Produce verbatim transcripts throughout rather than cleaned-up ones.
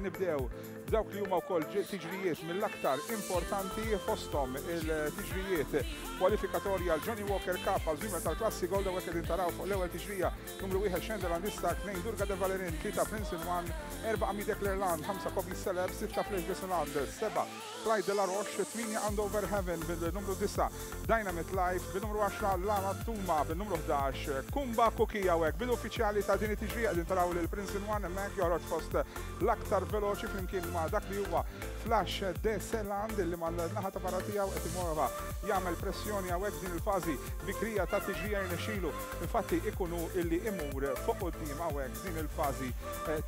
nibdew b'dawk li huma wkoll tiġrijiet mill-aktar importanti, fosthom il-tiġrijiet kwalifikatorja għal Johnny Walker Cup għal żwiemel tal-klassi Gold. Hawnhekk qegħdin taraw fuq l-ewwel tiġrija numru wieħed Xendelandista, tnejn Durga de Valerin, tlieta Prince in One, erba' Amide Clerland, ħamsa Kobi Celeb, sitta Flash de Seland, seba' Clyde de la Roche, tmienja Andover Heaven, bil-numru disgħa Dynamite Life, bil-numru għaxra Lama Tuma, bil-numru ħdax Kumba Kuki. Hawnhekk bil-uffiċjali ta' din it-tiġrija qegħdin taraw lil Prince in One hemmhekk joħroġ fost l-aktar veloċi flimkien ma' dak li huwa Flash de Seland li mal-naħa ta' barra tiegħu qed imorra jagħmel pressjoni hawnhekk din il-fażi bikrija ta' tiġrija. Jirnexxielu infatti ikunu illi imur fuq quddiem hawnhekk din il-fażi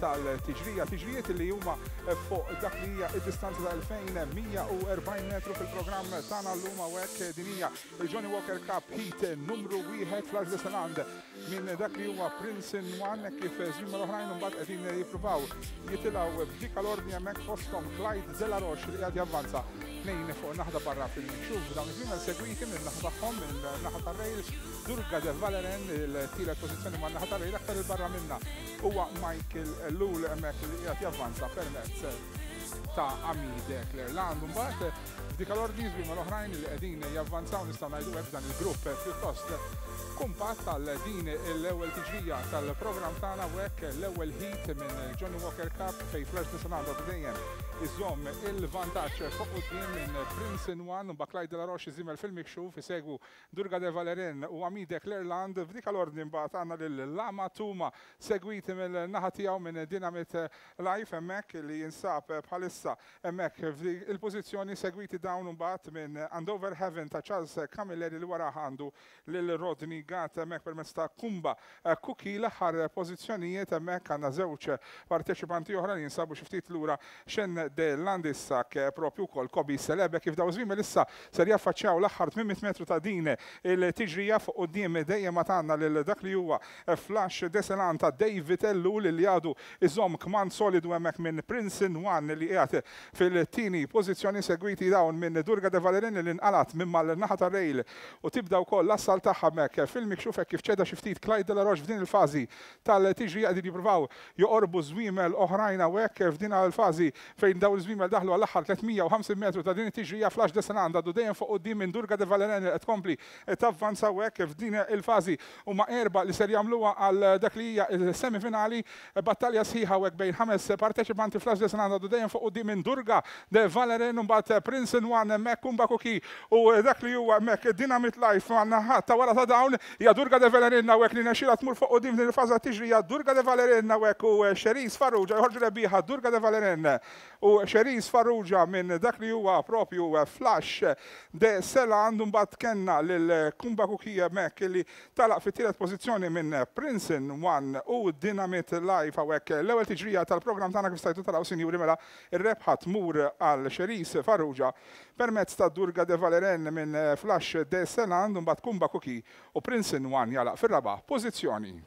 tal-tiġrija. Tiġrijiet li huma fuq dak li hija id-distanza ta' elfejn u mija u erbgħin metru fil-programm tagħna llum. Hawnhekk din hija il-Johnny Walker Cup Heat numru wieħed. Flash de Seland minn dak li huwa Prince in One, kif żwiemel oħrajn mbagħad qegħdin jippruvaw jitilgħu f'dik l-ordni hemmhekk, fosthom Clyde de la Roche li qed javvanza tnejn fuq naħa barra fil-mikxuf. Dawn iż-żwiemel segwiti minn naħa tagħhom, minn naħa tar-rail, Durga de Valeren, il-tielet pożizzjoni man naħa tar-rail. Aktar il-barra minna huwa Michael Ellul hemmhekk li qiegħed javvanza permezz ta' Amide Clerland. Mbagħad f'dik l-ordni żwiemel oħrajn li qegħdin javvanzaw, nistgħu ngħidu hekk, dan il-grupp pjuttost kumpat tal din l-ewwel tiġrija tal-programm tagħna hekk, l-ewwel heat minn Johnny Walker Cup, fej Flash de Seland dejjem iżomm il-vantaġġ fuq quddiem minn Prince in One, u Clyde de la Roche żiemel fil-mikxuf, isegwu Durga de Valerin u Amide Clerland. F'dik l-ordni mbagħad għandna lil Lama Tuma, segwiti mill-naħa tiegħu minn Dynamite Life hemmhekk li jinsab bħalissa hemmhekk il-pożizzjoni, segwiti dawn mbagħad minn Andover Heaven ta' Charles Camilleri li wara għandu lil Rodney Gatt hemmhekk permezz ta' Kumba Kuki. L-aħħar pożizzjonijiet hemmhekk għandna żewġ parteċipanti oħra li jinsabu xi ftit lura, Xen de Landissak, propju wkoll Kobi Celebe. Kif daw żwiemel issa ser jaffaċċjaw l-aħħar tmien mitt metru ta' din il-tiġrija, fuq quddiem dejjem ma tagħna lil dak li huwa Flash de Selan ta' David Ellul li għadu iżomm kmand solidu hemmhekk minn Prince in One li qiegħed fil-tieni pożizzjoni, segwiti dawn minn Durga de Valerin li nqalat minn mal-naħa ta' rail u tibda wkoll l-assal tagħha hemmhekk fil-mikxuf kif ċeda xi ftit Clyde de la Roche f'din il-fażi tal-tiġrija. Qegħdin jippruvaw joqorbu żwiemel oħrajn hawnhekk f'din il-fażi fejn daw iż-żwiemel daħlu għall-aħħar tliet mija u ħamsin metru ta' din it-tiġrija. Flash de Seland għadu dejjem fuq quddiem minn Durga de Valerin qed tkompli tavvanza hawnhekk f'din il-fażi. Huma erba' li ser jagħmluha għal dak li hija il-semifinali. Battalja sħiħa hawnhekk bejn ħames parteċipanti. Flash de Seland għadu dejjem fuq quddiem minn Durga de Valerin, mbagħad Prince in One hemmhekk, Kumba Kuki u dak li huwa hemmhekk Dynamite Life. Għandna ta' wara ta' dawn hija Durga de Valerin hawnhekk li nexxielha tmur fuq quddiem din il-faża tiġrija. Durga de Valerin hawnhekk u Cherise Farrugia joħorġu rebbieħa. Durga de Valerin u Cherise Farrugia minn dak li huwa propju Flash de Seland. Mbagħad kellna lil Kumba Kuki hemmhekk li telaq fit-tielet pożizzjoni minn Prince in One u Dynamite Life. Hawnhekk l-ewwel tiġrija tal-programm tagħna, kif stajtu taraw, sinjuri, mela ir-rebħa tmur għal Cherise Farrugia permezz ta' Durga de Valeren minn Flash de Seland, mbagħad Kumba Kuki u Prince in One jalaq fir-raba' pożizzjoni.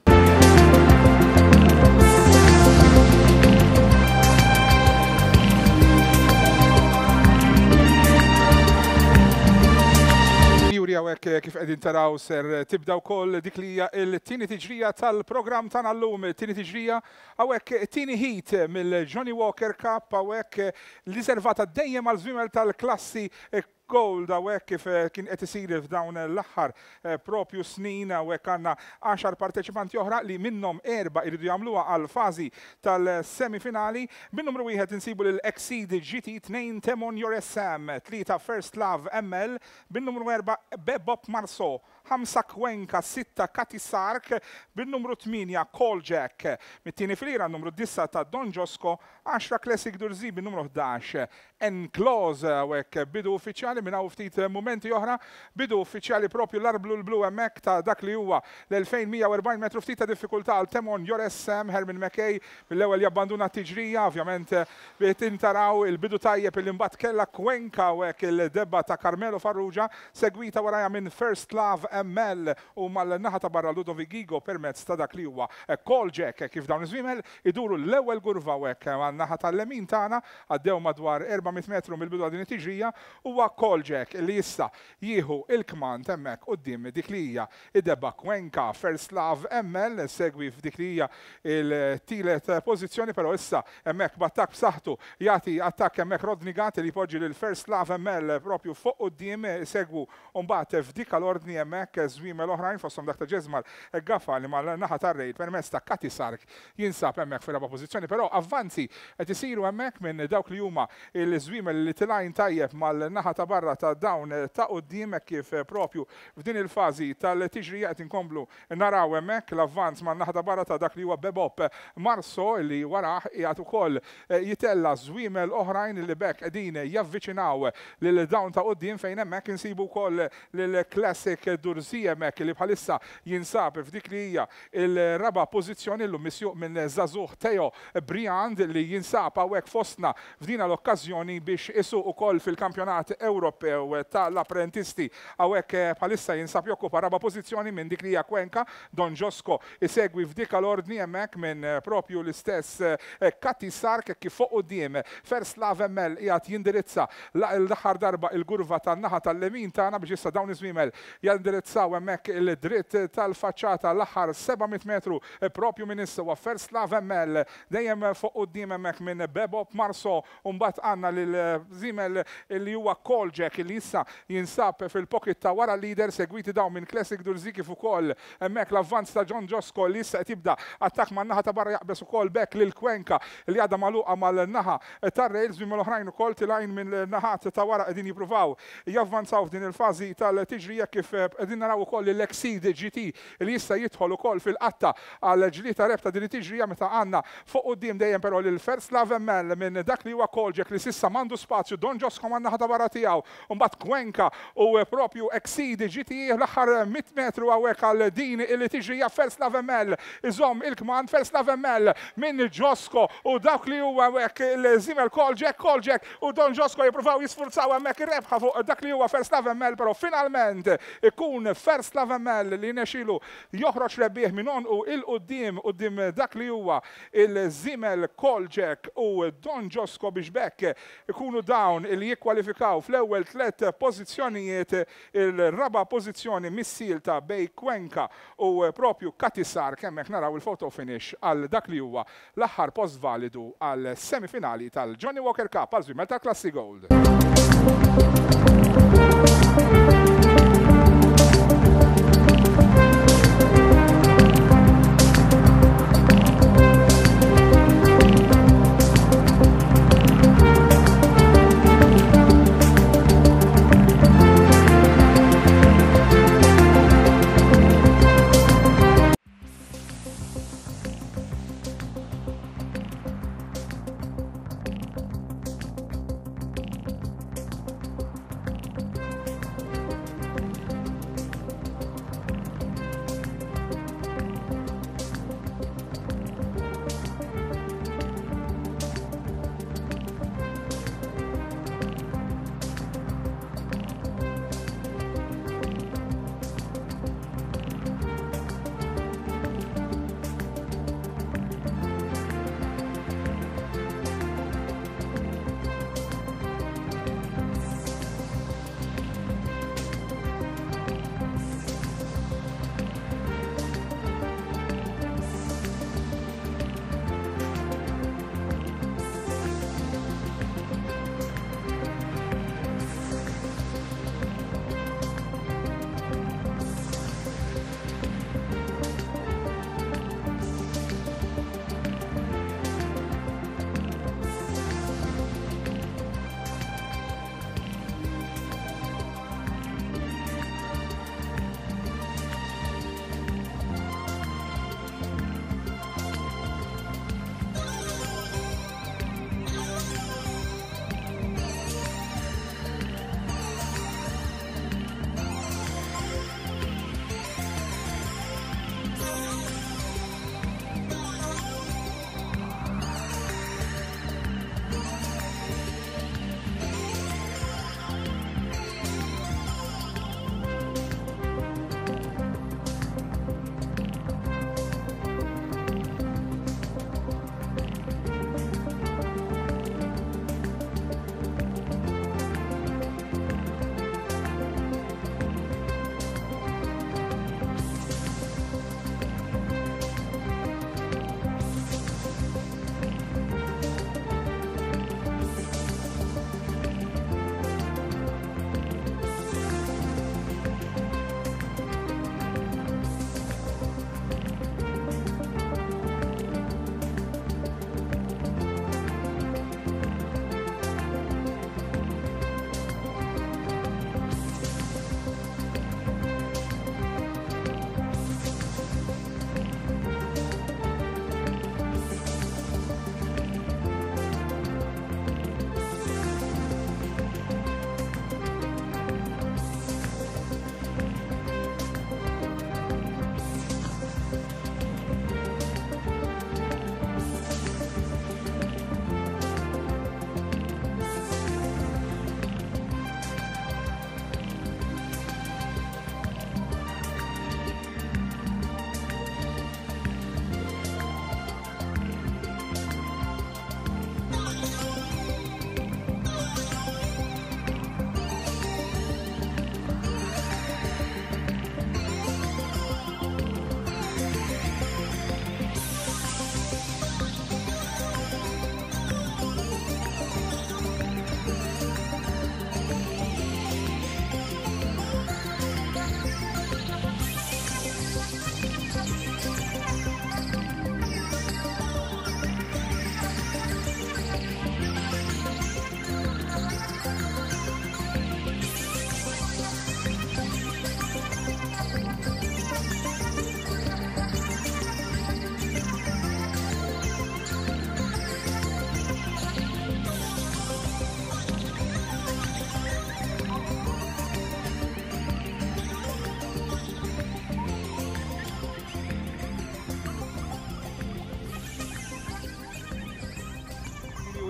Sinjuri, hawnhekk kif qegħdin taraw ser tibda wkoll dik li hija l-tieni tiġrija tal-programm tagħna llum, tieni tiġrija hawnhekk, tieni heat mill-Johnny Walker Cup hawnhekk, riservata dejjem għal żwiemel tal-klassi Gold hawnhekk kif kien qed isir f'dawn l-aħħar propju snin. Hawnhekk għandna għaxar parteċipanti oħra li minnhom erba' jridu jagħmluha għal fażi tal-semifinali. Bin numru wieħed insibu lil Exceed G T, tnejn Temon Joresam, tlieta First Love M L, bin numru erba' Bebop Marso, ħamsa Cuenca, sitta Kati Sark, bin numru tmienja Call Jack. Mit-tieni filira numru disgħa ta' Don Josco, għaxra Classic Durzi, bin numru ħdax Enclose. Hawnhekk bidu uffiċjali minn hawn ftit momenti oħra, bidu uffiċjali propju l-arblu l-blu hemmhekk ta' dak li huwa l-elfejn u mija u erbgħin metru. Ftit ta' diffikultà għal Temon Joresem. Herman McKay mill-ewwel jabbanduna t-tiġrija, ovvjament tintaraw il-bidu tajjeb il mbagħad kellha Cuenca hawnhekk, il-debba ta' Carmelo Farrugia, segwita warajha minn First Love M L u mal-naħa ta' barra Ludovic Gigo permezz ta' dak li huwa Call Jack kif dawn iż-żwiemel iduru l-ewwel kurva hekk man-naħa tal-lemin tagħna għaddew madwar erba' mitt metru mill-bidu din it-tiġrija huwa Call Jack li issa jieħu il-kmand hemmhekk quddiem dik li hija id-debba Cuenca. First Love M L segwi f'dik li hija il-tielet pożizzjoni, però issa hemmhekk b'attakk b'saħħtu jagħti attakk hemmhekk Rodney Gatt li jpoġġi lil First Love M L propju fuq quddiem, segwu mbagħad f'dik l-ordni hemmhekk żwiemel oħrajn fosthom dak ta' Ġeżmar Gaffa li mal-naħa tar-rejl permezz ta' Kati Sark jinsab hemmhekk fir-raba' pożizzjoni, però avvanzi qed isiru hemmhekk minn dawk li huma il-żwiemel li tilgħin tajjeb mal-naħa ta' barra ta' dawn ta' quddiem kif propju f'din il-fażi tal-tiġrija qed inkomplu naraw hemmhekk l-avvanz man-naħa ta' barra ta' dak li huwa Bebop Marso li warah qiegħed ukoll jitella żwiemel oħrajn li bekk qegħdin javviċinaw lil dawn ta' quddiem fejn hemmhekk insibu wkoll lil Classic Durzi hemmhekk li bħalissa jinsab f'dik li hija il-raba' pożizzjoni llum misjuq minn żagħżugħ Theo Briand li jinsab hawnhekk fostna f'dina l-okkażjoni biex isuq ukoll fil-Kampjonat Ewropew tal-Apprentisti. Hawnhekk bħalissa jinsab jokkupa raba' pożizzjoni minn dik li hija Cuenca. Don Josco isegwi f'dik l-ordni hemmhekk minn propju l-istess Kati Sark kif fuq quddiem First Love M L qiegħed jindirizza l-aħħar darba il-kurva tan-naħa tal-lemin tagħna biex issa dawn iż-żwiemel jindirizzaw hemmhekk il-dritt tal-faċċata l-aħħar seba' mitt metru propju minn issa huwa First Love M L dejjem fuq quddiem hemmhekk minn Bebop Marso u mbagħad għandna lil żiemel li huwa Call Jack li issa jinsab fil-pocket ta' wara l-leader segwiti dawn minn Classic Durzi kif ukoll hemmhekk l-avvanz ta' John Josco li issa qed jibda attakk man-naħa ta' barra jaqbeż ukoll bekk lil Cuenca li għadha magħluqa mal-naħa tar-rails minn l-oħrajn ukoll tilgħin minn naħat ta' wara qegħdin jippruvaw javvanzaw f'din il-fażi tal-tiġrija kif qegħdin naraw ukoll l-Exceed G T li issa jidħol ukoll fil-qatta għal ġlieta rebta din it-tiġrija meta għandna fuq quddiem dejjem però lil First Love M L minn dak li huwa Call Jack li s'issa m'għandu spazju, Don Josco man-naħa ta' barra tiegħu u mbagħad Cuenca u propju Exceed G T l-aħħar mitt metru hawnhekk għal din li tiġrija. First Love M L iżomm il-kmand, First Love M L minn Josco u dawk li huwa hawnhekk il-żiemel Call Jack, Call Jack u Don Josco jippruvaw jisfurzaw hemmhekk ir-rebħa fuq dak li huwa First Love M L, però finalment ikun First Love M L li nexilu joħroġ rebbieħ minn onqu il-quddiem quddiem dak li huwa il-żiemel Call Jack u Don Josco biex bekk ikunu dawn li jikkwalifikaw fl-ewwel tliet pożizzjonijiet, il-raba' pożizzjoni missielta bej Cuenca u propju Kati Sark. Hemmhekk naraw il-photo finish għal dak li huwa l-aħħar post validu għal semifinali tal-Johnnie Walker Cup għal żwiemel tal-Klassi Gold.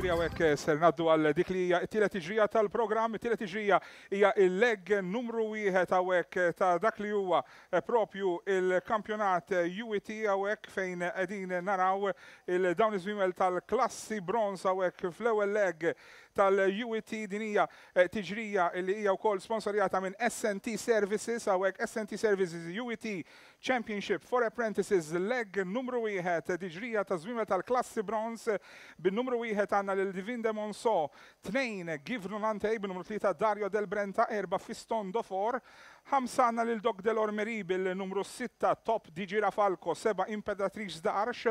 Sinjuri, hawnhekk ser ngħaddu għal dik li hija t-tielet tiġrija tal-programm. It-tielet tiġrija hija il-leg numru wieħed hawnhekk ta' dak li huwa propju il-kampjonat U E T, hawnhekk fejn qegħdin naraw il-dawn iż-żwiemel tal-klassi bronz hawnhekk fl-ewwel leg tal-U E T. Din hija tiġrija li hija wkoll sponsorjata minn S N T Services. Hawnhekk S N T Services U E T Championship for Apprentices, leg numru wieħed, tiġrija ta' żwiemel tal-klassi bronz. Bin-numru wieħed għandna lil Divin de Monso, tnejn Give Nonante, bin-numru tlieta Dario Del Brenta, erba' Fiston Dofor, ħamsa għandna lil Doc Delormery bil-numru sitta Top di Girafalco, seba' Imperatrice d'Arch,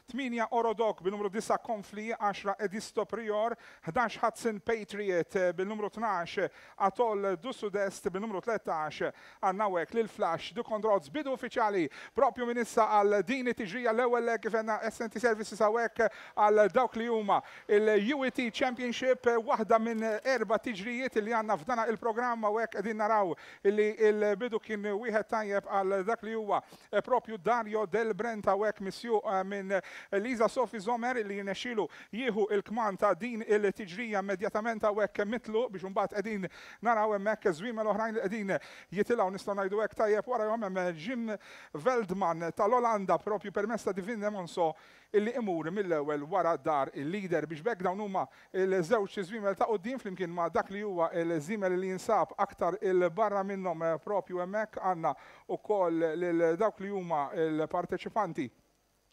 tmienja Orodoc bil-numru disgħa Confli, għaxra Edisto Prior, ħdax Hudson Patriot bil-numru tnax Atoll du Sud-Est, bil-numru tlettax għandna hawnhekk lil Flash du Condroz. Bidu uffiċjali propju minn issa għal din it-tiġrija, l-ewwel kif għandna S N T Services hawnhekk għal dawk li huma il-U E T Championship, waħda minn erba' tiġrijiet li għandna f'dana il-programm. Hawnhekk qegħdin naraw li il-bidu kien wieħed tajjeb għal dak li huwa propju Dario Del Brenta, hawnhekk misjuq minn Lisa Sophie Zomer, li jirnexxielu jieħu il-kmand ta' din il-tiġrija immedjatament hawnhekk mitlu, biex imbagħad qegħdin naraw hemmhekk żwiemel oħrajn li qegħdin jitilgħu, nistgħu ngħidu hekk, tajjeb warahom. Hemm Jim Veldman tal-Olanda propju permezz ta' Divin de Monso illi imur mill-ewwel wara dar il-leader, biex b'hekk dawn huma il-żewġ żwiemel ta' quddiem flimkien ma' dak li huwa il-żiemel li jinsab aktar il-barra minnhom. Propju hemmhekk għandna ukoll lil dawk li huma il-parteċipanti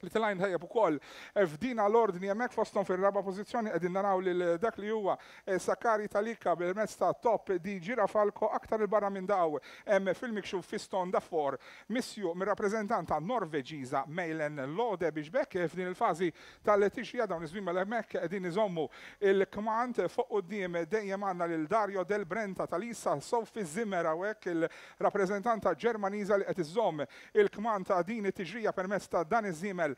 li telgħin tajjeb ukoll f'dina l-ordni hemmhekk, fosthom fir-raba' pożizzjoni qegħdin naraw lil dak li huwa Sakari Talika bil-mezz ta' Top di Girafalco. Aktar il-barra minn daw hemm fil-mikxuf Fiston Dafor, misjuq mir-rappreżentanta Norveġiża Meilen Lode, biex b'hekk f'din il-fażi tal-tiġrija dawn iż-żwiemel hemmhekk qegħdin iżommu il-kmand. Fuq quddiem dejjem għandna lil Dario Del Brenta ta' Lisa Sophie Zimmer, hawnhekk il-rappreżentanta Ġermaniża li qed iżomm il-kmand ta' din it-tiġrija permezz ta' dan iż-żiemel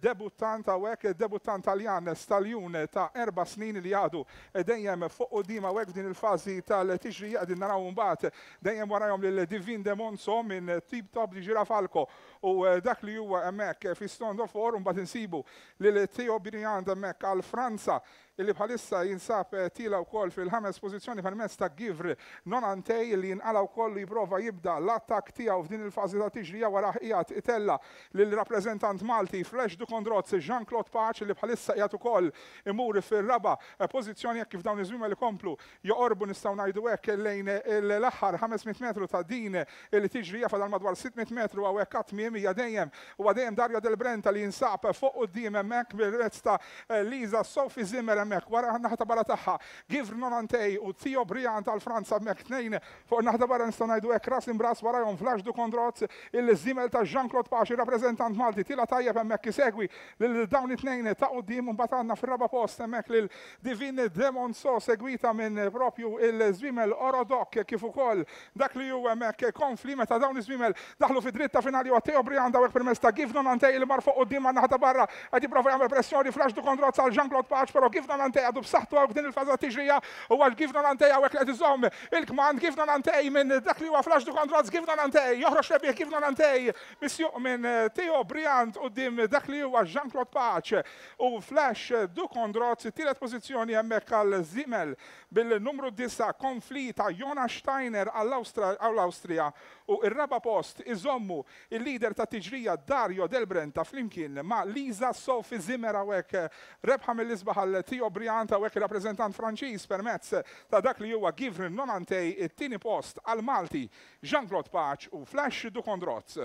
debuttant hawnhekk, debuttant Taljan, staljun ta' erba' snin li għadu dejjem fuq quddiem hawnhekk f'din il-fażi tal-tiġrija. Qegħdin naraw mbagħad dejjem warahom lil Divin de Monso minn Tip Top di Girafalco u dak li huwa hemmhekk Fiston Dofor. Mbagħad insibu lil Theo Briand hemmhekk għal Franza, illi bħalissa jinsab tiela' wkoll fil-ħames pożizzjoni permezz ta' Givre Nonantej, li jinqala wkoll jipprova jibda l-attak tiegħu f'din il-fażi ta' tiġrija. Wara qiegħed itella lill-rappreżentant Malti Flash du Condroz, Jean-Claude Pace, li bħalissa qiegħed ukoll imur fir-raba' pożizzjoni, hekk kif dawn iż-żwiemel ikomplu joqorbu, nistgħu ngħidu hekk, lejn l-aħħar ħames mitt metru ta' din il-tiġrija. Fadal madwar sitt mitt metru hawnhekk għat-tmiem. Hija dejjem huwa dejjem Dario Del Brenta li jinsab fuq quddiem hemmhekk bil-mezz ta' Lisa Sophie Zimmer hemmhekk, wara naħa ta' barra tagħha Givre Nonantej u Theo Briand tal-Franza hemmhekk, tnejn fuq naħa ta' barra, nistgħu ngħidu hekk, ras imbras. Warahom Flash du Condroz, il-żiemel ta' Jean-Claude Pace, rappreżentant Malti, tiela' tajjeb hemmhekk isegwi lil dawn it-tnejn ta' quddiem. Mbagħad għandna fir-raba' post hemmhekk lil Divin de Monso, segwita minn propju il-żwiemel Orodoc kif ukoll dak li hu hemmhekk Konfli. Meta dawn iż-żwiemel daħlu fi dritta finali u Theo Briand hawnhekk permezz ta' Give Nonantej li mar fuq quddiem għan-naħa ta' barra, qed jipprova jagħmel pressjoni Flash du Condroz għal Jean-Claude Pace, però Give Nonantej għadu b'saħħtu hawn f'din il-faża tiġrija u għal Give Nonantej hawnhekk li qed iżomm il-kmand. Give Nonantej minn dak li huwa Flash du Condroz. Give Nonantej joħroġ rebbieħ. Give Nonantej misjuq minn Theo Briand quddiem dak li huwa Jean-Claude Pace u Flash du Condroz. Tielet pożizzjoni hemmhekk għal żiemel bil-numru disgħa Konfli ta' Jonas Steiner għall-Awstrija u ir-raba' post iżommu il-leader ta' tiġrija Dario Del Brenta flimkien ma' Lisa Sophie Zimmer. Hawnhekk rebħa mill-isbaħ għal Theo Briand hawnhekk, il-rappreżentant Franċiż, permezz ta' dak li huwa Givre Nonantej. It-tieni post għal Malti Jean-Claude Pace u Flash du Condroz.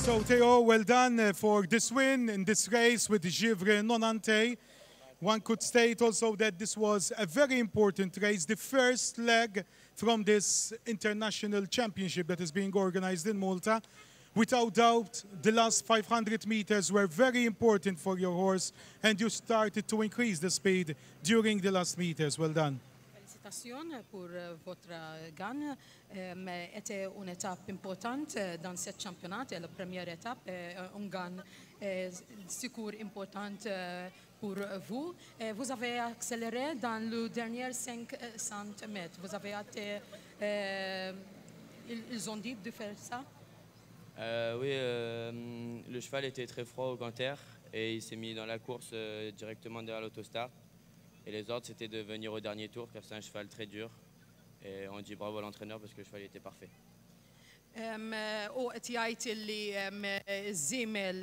So Theo, well done uh, for this win in this race with Givre Nonante. One could state also that this was a very important race, the first leg from this international championship that is being organized in Malta. Without doubt, the last five hundred meters were very important for your horse and you started to increase the speed during the last meters. Well done. Félicitations pour euh, votre gagne. Euh, était une étape importante dans ce championnat, la première étape, un gain secours important pour vous. Vous avez accéléré dans le dernier cinq cents mètres. Vous avez été, ils ont dit de faire ça? euh, Oui, euh, le cheval était très froid au canter et il s'est mis dans la course euh, directement derrière l'autostart. Et les ordres, c'était de venir au dernier tour, car c'est un cheval très dur. Et on dit bravo à l'entraîneur parce que le cheval était parfait. U qed jgħid li ż-żiemel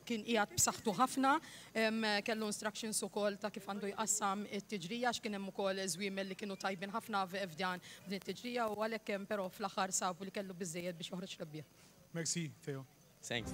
kien qiegħed b'saħħtu ħafna, kellu instructions ukoll ta' kif għandu jqassam it-tiġrija għax kien hemm ukoll żwiemel li kienu tajbin ħafna f'dan din it-tiġrija u għalhekk però fl-aħħar sabu li kellu biżejjed biex joħroġ rebbieħ. Merci, Theo. Thanks.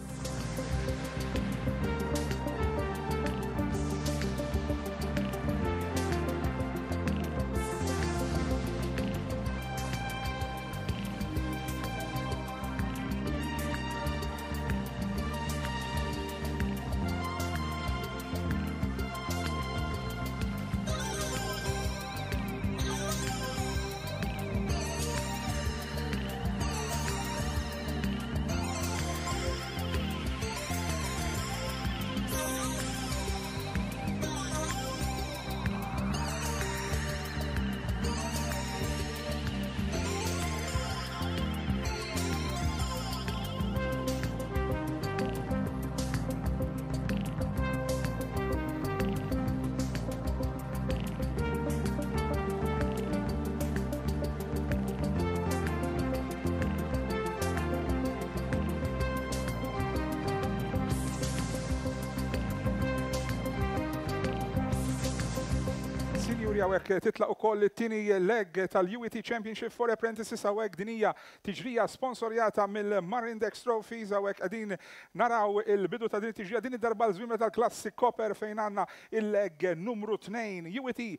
Sinjuri, hawnhekk titlaq ukoll it-tieni leg tal-U E T Championship for Apprentices. Hawnhekk din hija tiġrija sponsorjata mill-Marindex Trophies. Hawnhekk qegħdin naraw il-bidu ta' din tiġrija, din id-darba l-żwiemel tal-klassi Copper, fejn għandna il-leg numru tnejn, U E T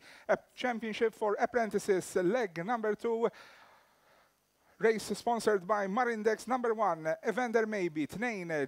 Championship for Apprentices leg number two. Race sponsored by Marindex. Number one, Evander Maybe, two,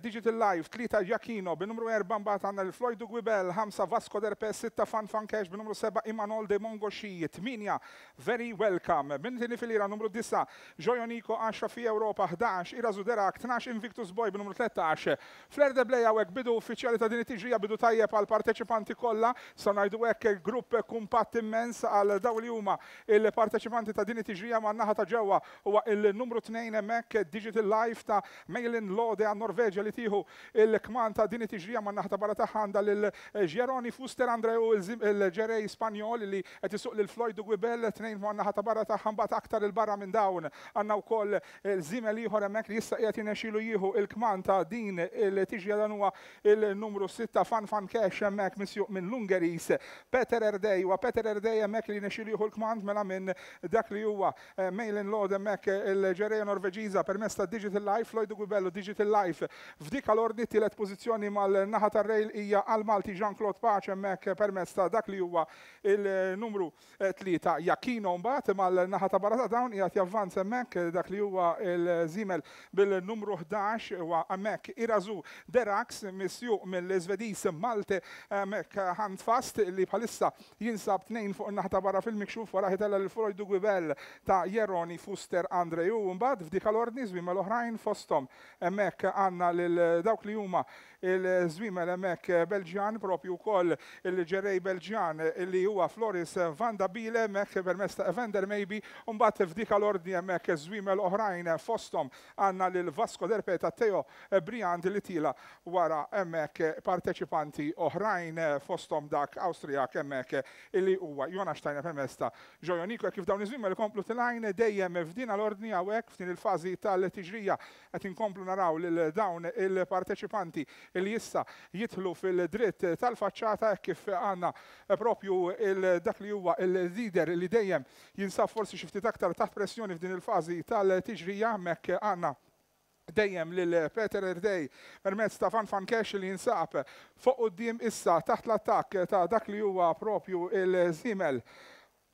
Digital Life, three, Giacchino, bin-numru four mbagħad għandna l-Floyd Guibel, five, Vasco Derpes, six, Fan Fan Cash, bin-numru seven, Imanol de Mongoshi, eight, Very Welcome, bin-tieni filira numru nine, Joyonico, ten fi Europa, eleven, Irazu Derak, twelve, Invictus Boy, bin-numru thirteen, Flair de Blea. Hawnhekk bidu uffiċjali ta' din it-tiġrija, bidu tajjeb għal parteċipanti kollha, sa ngħidu hekk grupp kumpatt immens għal dawn li huma il-parteċipanti ta' din it-tiġrija. Man-naħa ta' ġewwa huwa il-numru two hemmhekk Digital Life ta' Mailin Lode għan Norveġa li tieħu il-kman ta' din it-tiġrija. Man-naħa ta' barra tagħha għandha lil Jeroni Fuster Andreu, il-ġerej Spanjol li qed isuq lil Floyd Guibel, tnejn man-naħa ta' barra tagħha. Mbagħad aktar il-barra minn dawn għandna wkoll żiemel ieħor hemmhekk li issa qiegħed jirnexxielu jieħu il-kman ta' din il-tiġrija. Dan huwa il-numru six Fan Fan Cash hemmhekk misjuq minn l-Ungeris Peter Erdej u Peter Erdej hemmhekk li jirnexxielu jieħu l-kmand mela minn dak li huwa Mailin Lode hemmhekk, il-ġereja Norveġiża, permezz ta' Digital Life, Floyd Guibello, Digital Life. F'dik l-ordni, tielet pożizzjoni mal-naħa tar-rail hija għal-Malti Jean-Claude Pace hemmhekk permezz ta' dak li huwa il-numru tlieta Jakino. Mbagħad mal-naħa ta' barra ta' dawn qiegħed javvanza hemmhekk dak li huwa il-żiemel bil-numru ħdax, huwa hemmhekk Irazu Derax misjuq mill-Iżvediż Malte hemmhekk Handfast li bħalissa jinsab tnejn fuq in-naħa ta' barra fil-mikxuf, wara ħitella l-Floyd Guibel ta' Jeroni Fuster Andreju. Mbagħad f'dik l-ordni żwiemel oħrajn, fosthom hemmhekk għandna lil dawk li huma il-żwiemel hemmhekk Belġjan, propju wkoll il-ġerej Belġjan li huwa Floris van da Bile hemmhekk permezz ta' Evander Maybe. U mbagħad f'dik l-ordni hemmhekk żwiemel oħrajn, fosthom għandna lil Vasco Derpe ta' Teo Briand li tila wara hemmhekk parteċipanti oħrajn, fosthom dak Awstrijak hemmhekk illi huwa Jonas Steiner permezz ta' Jojoniko. Kif dawn iż-żwiemel ikomplu tilajn dejjem f'din l-ordni, hawnhekk f'din il-fażi tal-tiġrija qed inkomplu naraw lil dawn il-parteċipanti li issa jidħlu fil-dritt tal-faċċata, kif għandna propju dak li huwa il-leader li dejjem jinsab forsi xi ftit aktar taħt pressjoni f'din il-fażi tal-tiġrija. Hemmhekk għandna Dejjem lil Peter Erdej permezz ta' Fan Fan Cash li jinsab fuq quddiem issa taħt l-attakk ta' dak li huwa propju il-żiemel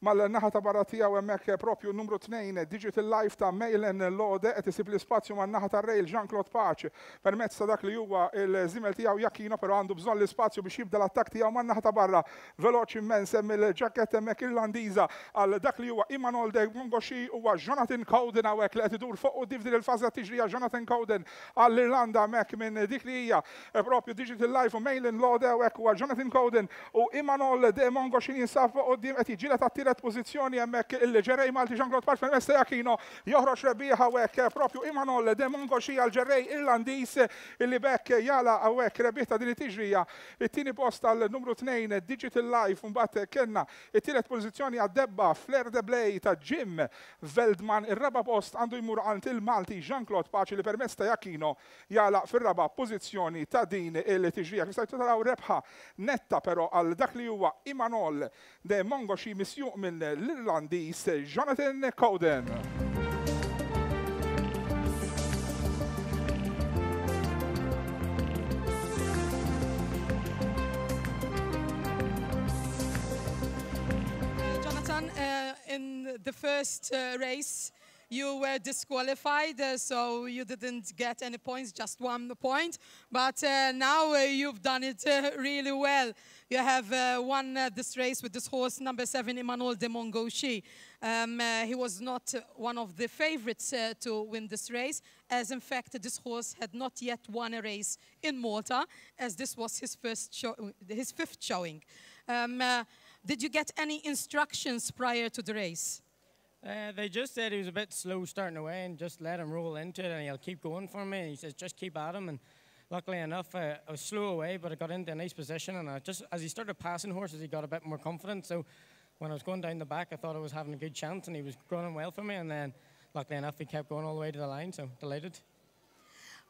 mal-naħa ta' barra tiegħu hemmhekk propju numru tnejn Digital Life ta' Mailen Lode qed isib l-ispazju man-naħa tar-rail Jean-Claude Pace permezz ta' dak li huwa il-żiemel tiegħu Jakino, però għandu bżonn l-ispazju biex jibda l-attakk tiegħu man-naħa ta' barra veloċi immens hemm il-ġaketta hemmhekk Irlandiża għal dak li huwa Imanol de Mongoshi huwa Jonathan Cowden hawnhekk li qed idur fuq quddiem f'din il-fażi tiġrija. Jonathan Cowden għall-Irlanda hemmhekk minn dik li hija propju Digital Life u Mailen Lode hawnhekk huwa Jonathan Cowden u Imanol de Mongoshi jinsab fuq quddiem qed jiġġieled għat-tielet pożizzjoni hemmhekk il-ġerrej Malti Jean-Claude Pace permezz ta' Jakino joħroġ rebbieħ hawnhekk propju Imanol de Mongoshi għal ġerrej Irlandiż illi bekk jala hawnhekk rebbieħ ta' din it-tiġrija. It-tieni post għal numru tnejn Digital Life, mbagħad kellna it-tielet pożizzjoni għad-debba Flair de Blay ta' Jim Veldman. Ir-raba' post għandu jmur għand il-Malti Jean-Claude Pace li permezz ta' Jakino jala fir-raba' pożizzjoni ta' din il-tiġrija. Kif stajtu taraw rebħa netta però għal dak li huwa Imanol de Mongoshi misjuq minn l-Irlandiż Jonathan Cowden. Jonathan, uh, in the first uh, race, you were disqualified, uh, so you didn't get any points, just one point. But uh, now uh, you've done it uh, really well. You have uh, won uh, this race with this horse, number seven, Imanol de Mongoshi. Um, uh, he was not one of the favorites uh, to win this race, as in fact this horse had not yet won a race in Malta, as this was his first show, his fifth showing. Um, uh, did you get any instructions prior to the race? Uh, they just said he was a bit slow starting away and just let him roll into it and he'll keep going for me. And he says, just keep at him. And luckily enough, uh, I was slow away, but I got into a nice position. And I just, as he started passing horses, he got a bit more confident. So when I was going down the back, I thought I was having a good chance and he was running well for me. And then luckily enough, he kept going all the way to the line, so delighted.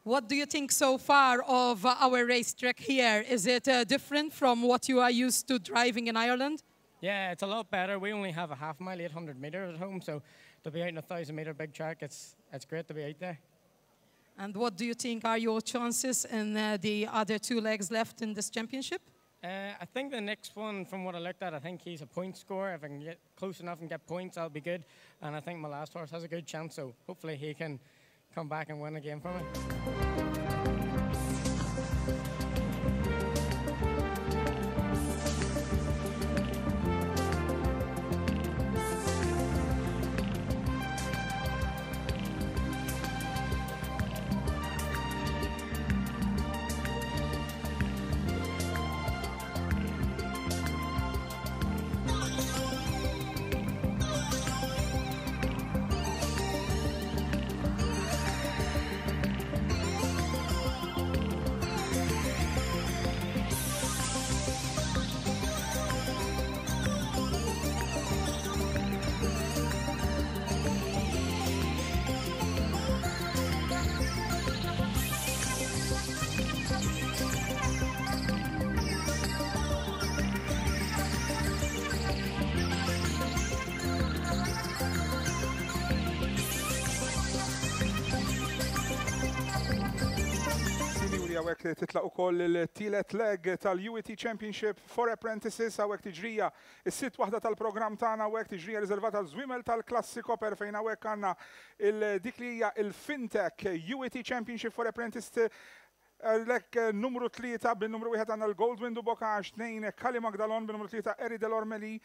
What do you think so far of our racetrack here? Is it uh, different from what you are used to driving in Ireland? Yeah, it's a lot better. We only have a half mile, eight hundred meters at home, so to be out in a thousand meter big track, it's, it's great to be out there. And what do you think are your chances in uh, the other two legs left in this championship? Uh, I think the next one, from what I looked at, I think he's a point scorer. If I can get close enough and get points, I'll be good. And I think my last horse has a good chance, so hopefully he can come back and win again for me. Hawnhekk titlaq ukoll il-tielet leg tal-U E T Championship for Apprentices, hawnhekk tiġrija is-sitt waħda tal-programm tagħna, hawnhekk tiġrija riservata għal żwiemel tal-klassi Copper fejn hawnhekk għandna dik li hija il-FinTech U E T Championship for Apprentices lek numru tlieta bin-numru wieħed għandna l-Goldwyn du Bocage, tnejn Kali Magdalon bin-numru tlieta Eri Delormeli,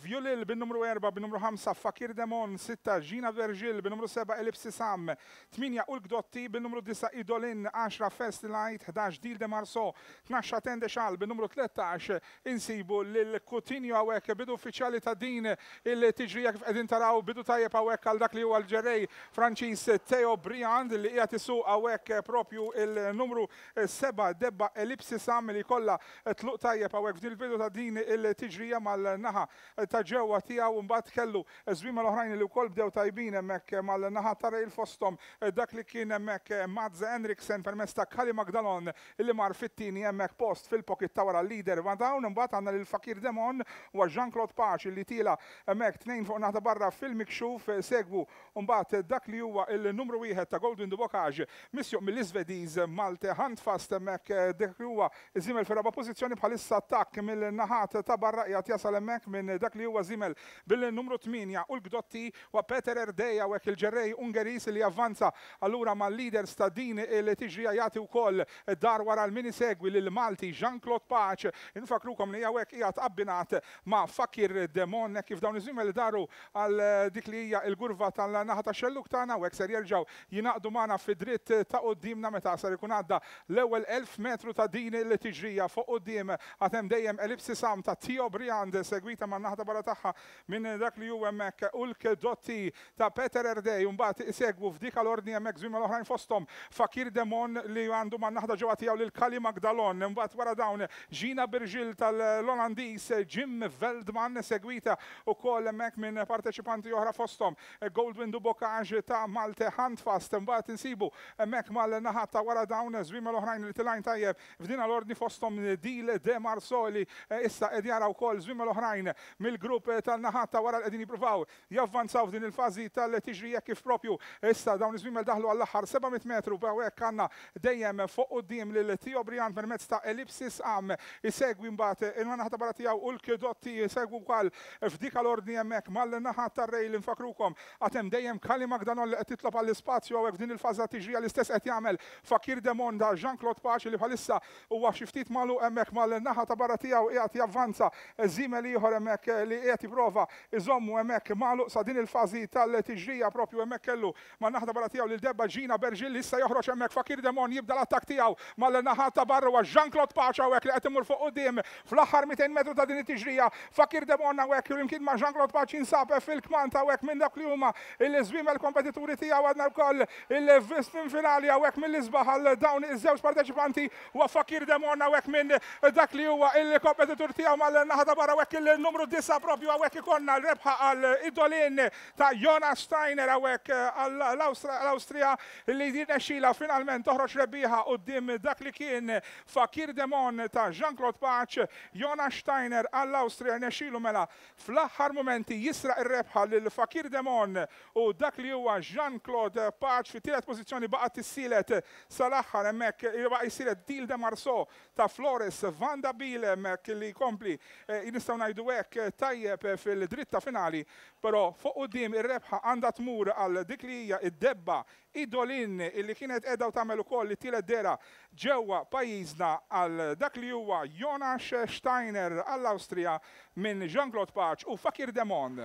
Violil bin-numru erba' bin-numru ħamsa Fakir Demon, sitta Gina Vergil bin-numru seba' Ellipsi Sam, tmienja Ulk Dotti bin-numru disa' Idolin, għaxra First Light, ħdax Dil de Marso, tnax Tende Xal bin-numru tlettax insibu lil Coutinho hawnhekk bidu uffiċjali ta' din il-tiġrija kif qegħdin taraw bidu tajjeb hawnhekk għal dak li huwa l-ġerrej Franċiż Theo Briand li qiegħed isuq hawnhekk propju il-numru seba' debba Ellipsi Sam li kollha tluq tajjeb hawnhekk f'din il-bidu ta' din il-tiġrija mal-naħa ta' ġewwa tiegħu, mbagħad kellu żwiemel oħrajn li wkoll bdew tajbin hemmhekk mal-naħa ta' rail fosthom dak li kien hemmhekk Mads Henriksen permezz ta' Kali Magdalon li mar fit-tieni hemmhekk post fil-pocket ta' wara l-leader. Ma' dawn imbagħad għandna lil Fakir Demon u Jean-Claude Pace li tila hemmhekk tnejn fuq naħa barra fil-mikxuf, segwu mbagħad dak li huwa il-numru wieħed ta' Goldwyn du Bocage misjuq mill-Iżvediż Malte Handfast hemmhekk dak li huwa żiemel fir-raba' pożizzjoni bħalissa attakk mill-naħat ta' barra qiegħed jasal hemmhekk minn dak li huwa żiemel bil-numru tmienja u l-Gdotti wa Peter Erdei hawnhekk il-ġerrej Ungeris li avvanza allura mal-leaders ta' din il-tiġrija jagħti wkoll dar wara l-min isegwi lil Malti Jean-Claude Pace. Infakrukom li hawnhekk qiegħed abbinat ma' Fakir Demon kif dawn iż-żwiemel daru għal dik li hija l-gurva tal-naħa ta' xelluk tagħna u hekk ser jerġgħu jingħaqdu magħna fid-dritt ta' quddiemna meta ser ikun għadda l-ewwel elf metru ta' din il-tiġrija. Fuq quddiem għad hemm dejjem Ellipsis Am ta' Theo Briand segwita man-naħa ta' barra tagħha minn dak li hu hemmhekk Ulk Dotti ta' Peter Erdei, u mbagħad isegwu f'dik l-ordni hemmhekk żwiemel oħrajn fosthom Fakir Demon li għandu man-naħa ġewwa tiegħu lil Kali Magdalon, imbagħad wara dawn Gina Birgil tal-Olandiż Jim Veldman segwita wkoll hemmhekk minn parteċipanti oħra fosthom Goldwyn du Bocage ta' Malte Handfast. Imbagħad insibu hemmhekk mal-naħa ta' wara dawn żwiemel oħrajn li tilgħin tajjeb f'din l-ordni fosthom Dil de Marsoli issa qed jara wkoll żwiemel oħrajn mill-grupp tan-naħa ta' wara li qegħdin jippruvaw javvanzaw f'din il-fażi tal-tiġrija kif propju issa dawn iż-żwiemel daħlu għall-aħħar seba' mitt metru hawnhekk għandna dejjem fuq quddiem lil Theo Briand permezz ta' Ellipsis Am isegwi mbagħad il-naħa ta' barra tiegħu Ulk Dotti isegwu wkoll f'dik l-ordni hemmhekk mal-naħa tar-rail. Infakrukom għad hemm dejjem Kali Magdalon li qed titlob għall-ispazju hawnhekk f'din il-fażi ta' tiġrija, l-istess qed jagħmel Fakir Demon da Jean-Claude Pace li bħalissa huwa xi ftit magħluq hemmhekk mal-naħa ta' barra tiegħu qiegħed javvanza żiemel ieħor hemmhekk li qiegħed jipprova iżommu hemmhekk magħluq sa din il-fażi tal-tiġrija propju hemmhekk kellu man-naħa ta' barra tiegħu lil debba Gina Bergil li issa joħroġ hemmhekk Fakir Demon jibda l-attakk tiegħu mal-naħa ta' barra huwa Jean-Claude Pace hawnhekk li qed imur fuq quddiem fl-aħħar mitejn metru ta' din it-tiġrija. Fakir Demon hawnhekk flimkien ma' Jean-Claude Pace jinsab fil-kmand hawnhekk minn dak li huma il-żwiemel kompetituri tiegħu. Għadna wkoll il-vistin finali hawnhekk mill-isbaħ għal dawn iż-żewġ parteċipanti huwa Fakir Demon hawnhekk minn dak li huwa il-kompetitur tiegħu mal-naħa ta' barra hawnhekk il-numru disa' propju hawnhekk ikollna l-rebħa għal Idolin ta' Jonas Steiner hawnhekk għall-Awstrija li jirnexxila finalment toħroġ rebbieħa quddiem dak li kien Fakir Demon ta' Jean-Claude Pace. Jonas Steiner għall-Awstrija rnexxilu mela fl-aħħar momenti jisraq ir-rebħa lil Fakir Demon u dak li huwa Jean-Claude Pace. Fit-tielet pożizzjoni baqgħet tissielet sal-aħħar hemmhekk baqa' jissielet Dil de Marceau ta' Flores Vanda Biel hemmhekk li jkompli nistgħu ngħidu hekk tajjeb fil-dritta finali, però fuq quddiem ir-rebħa għandha tmur għal dik li hija id-debba Idolin illi kienet qiegħda u tagħmel ukoll it-tielet dera ġewwa pajjiżna għal dak li huwa Jonas Steiner għall-Awstrija minn Jean-Claude Pace u Fakir Demon.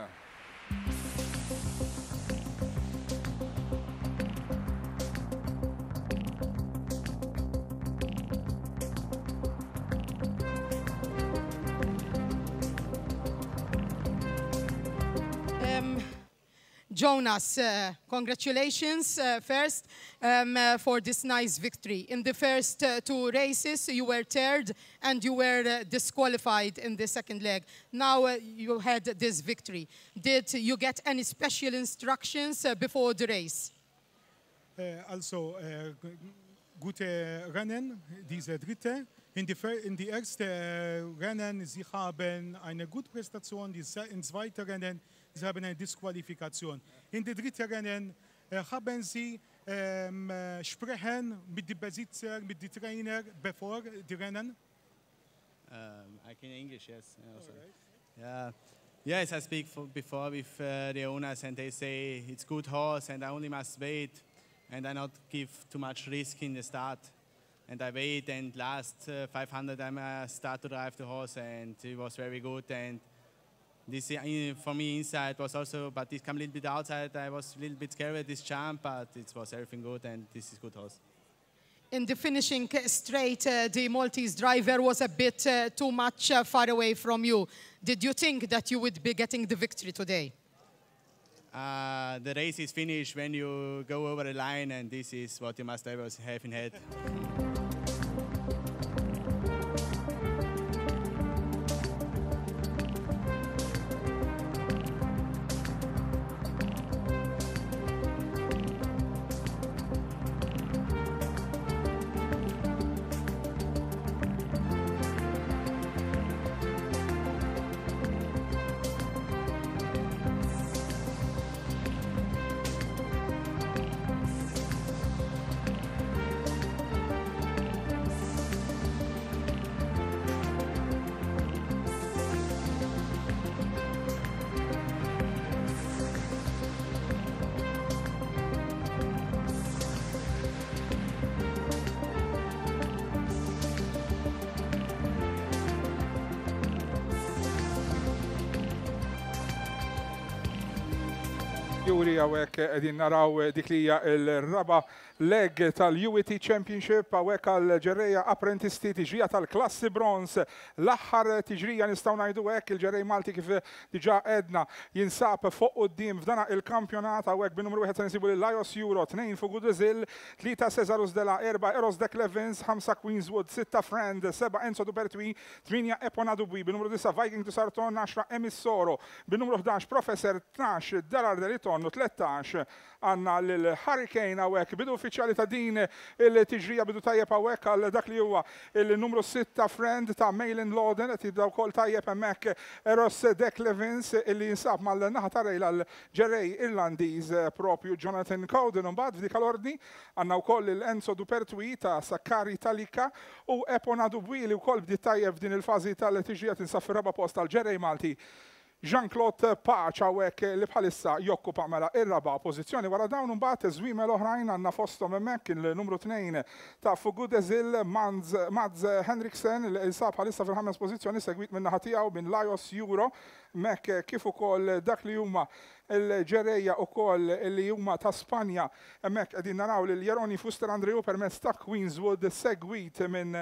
Jonas, uh, congratulations uh, first um, uh, for this nice victory. In the first uh, two races, you were third and you were uh, disqualified in the second leg. Now uh, you had this victory. Did you get any special instructions uh, before the race? Uh, also, uh, gute Rennen, diese dritte. In die, in die erste Rennen, sie haben eine gute Prästation, die in zweite Rennen, sie haben eine Disqualifikation. In die dritte Rennen äh, haben sie ähm, sprechen mit den Besitzer, mit den Trainer, bevor die Rennen. Um, I can English, yes. Also. Right. Yeah. Yes, I speak for before with uh, the owners and they say it's good horse and I only must wait and I not give too much risk in the start. And I wait and last uh, five hundred I start to drive the horse and it was very good. And this uh, for me inside was also, but this come a little bit outside. I was a little bit scared at this jump, but it was everything good and this is good horse. In the finishing straight, uh, the Maltese driver was a bit uh, too much uh, far away from you. Did you think that you would be getting the victory today? Uh, the race is finished when you go over the line, and this is what you must always have in head. Juri hawnhekk qegħdin naraw dik li hija l-raba leg tal-U E T Championship hawnhekk għal ġerreja apprentisti, tiġrija tal-klassi bronze. L-aħħar tiġrija, nistgħu ngħidu hekk. Il-ġerrej Malti, kif diġà għedna, jinsab fuq quddiem f'dana il-kampjonat. Hawnhekk bin-numru wieħed se nsibu lil Lajos Euro, tnejn Fugu Dezil, tlieta Cesarus Dela, erba' Eros Dek Levins, ħamsa Queenswood, sitta Friend, seba' Enzo Dupertui, tmienja Epona Dubwi, bin-numru disa' Viking to Sarton, għaxra Emissoro, bin-numru ħdax Professor, tnax Dalar Deliton u tlettax għandna l-Hurricane. Hawnhekk bidu uffiċjali ta' din il-tiġrija, bidu tajjeb hawnhekk għal dak li huwa il-numru sitta Friend ta' Mailin Loden. Qed jibda wkoll tajjeb hemmhekk Eros Dek Levins illi jinsab mal-naħa ta' rail għal ġerrej Irlandiż propju Jonathan Cowden. Imbagħad f'dik l-ordni għandna wkoll il-Enzo Dupertui ta' Sakkari Talika u Epona Dubwi li wkoll bdiet tajjeb f'din il-fażi tal-tiġrija, tinsab fir-raba' post tal-ġerrej Malti Jean-Claude Pace hawnhekk li bħalissa jokkupa mela ir-raba' pożizzjoni. Wara dawn imbagħad żwiemel oħrajn għandna fosthom hemmhekk il-numru tnejn ta' Fugu Dezil Mads Henriksen li jinsab bħalissa fil-ħames pożizzjoni, segwit minn naħa tiegħu minn Lajos Euro mek kif ukoll dak li huma l-ġerreja ukoll li huma ta' Spanja. Hemmhekk qegħdin naraw lil Jeroni Fuster Andrew permezz ta' Queenswood, segwit minn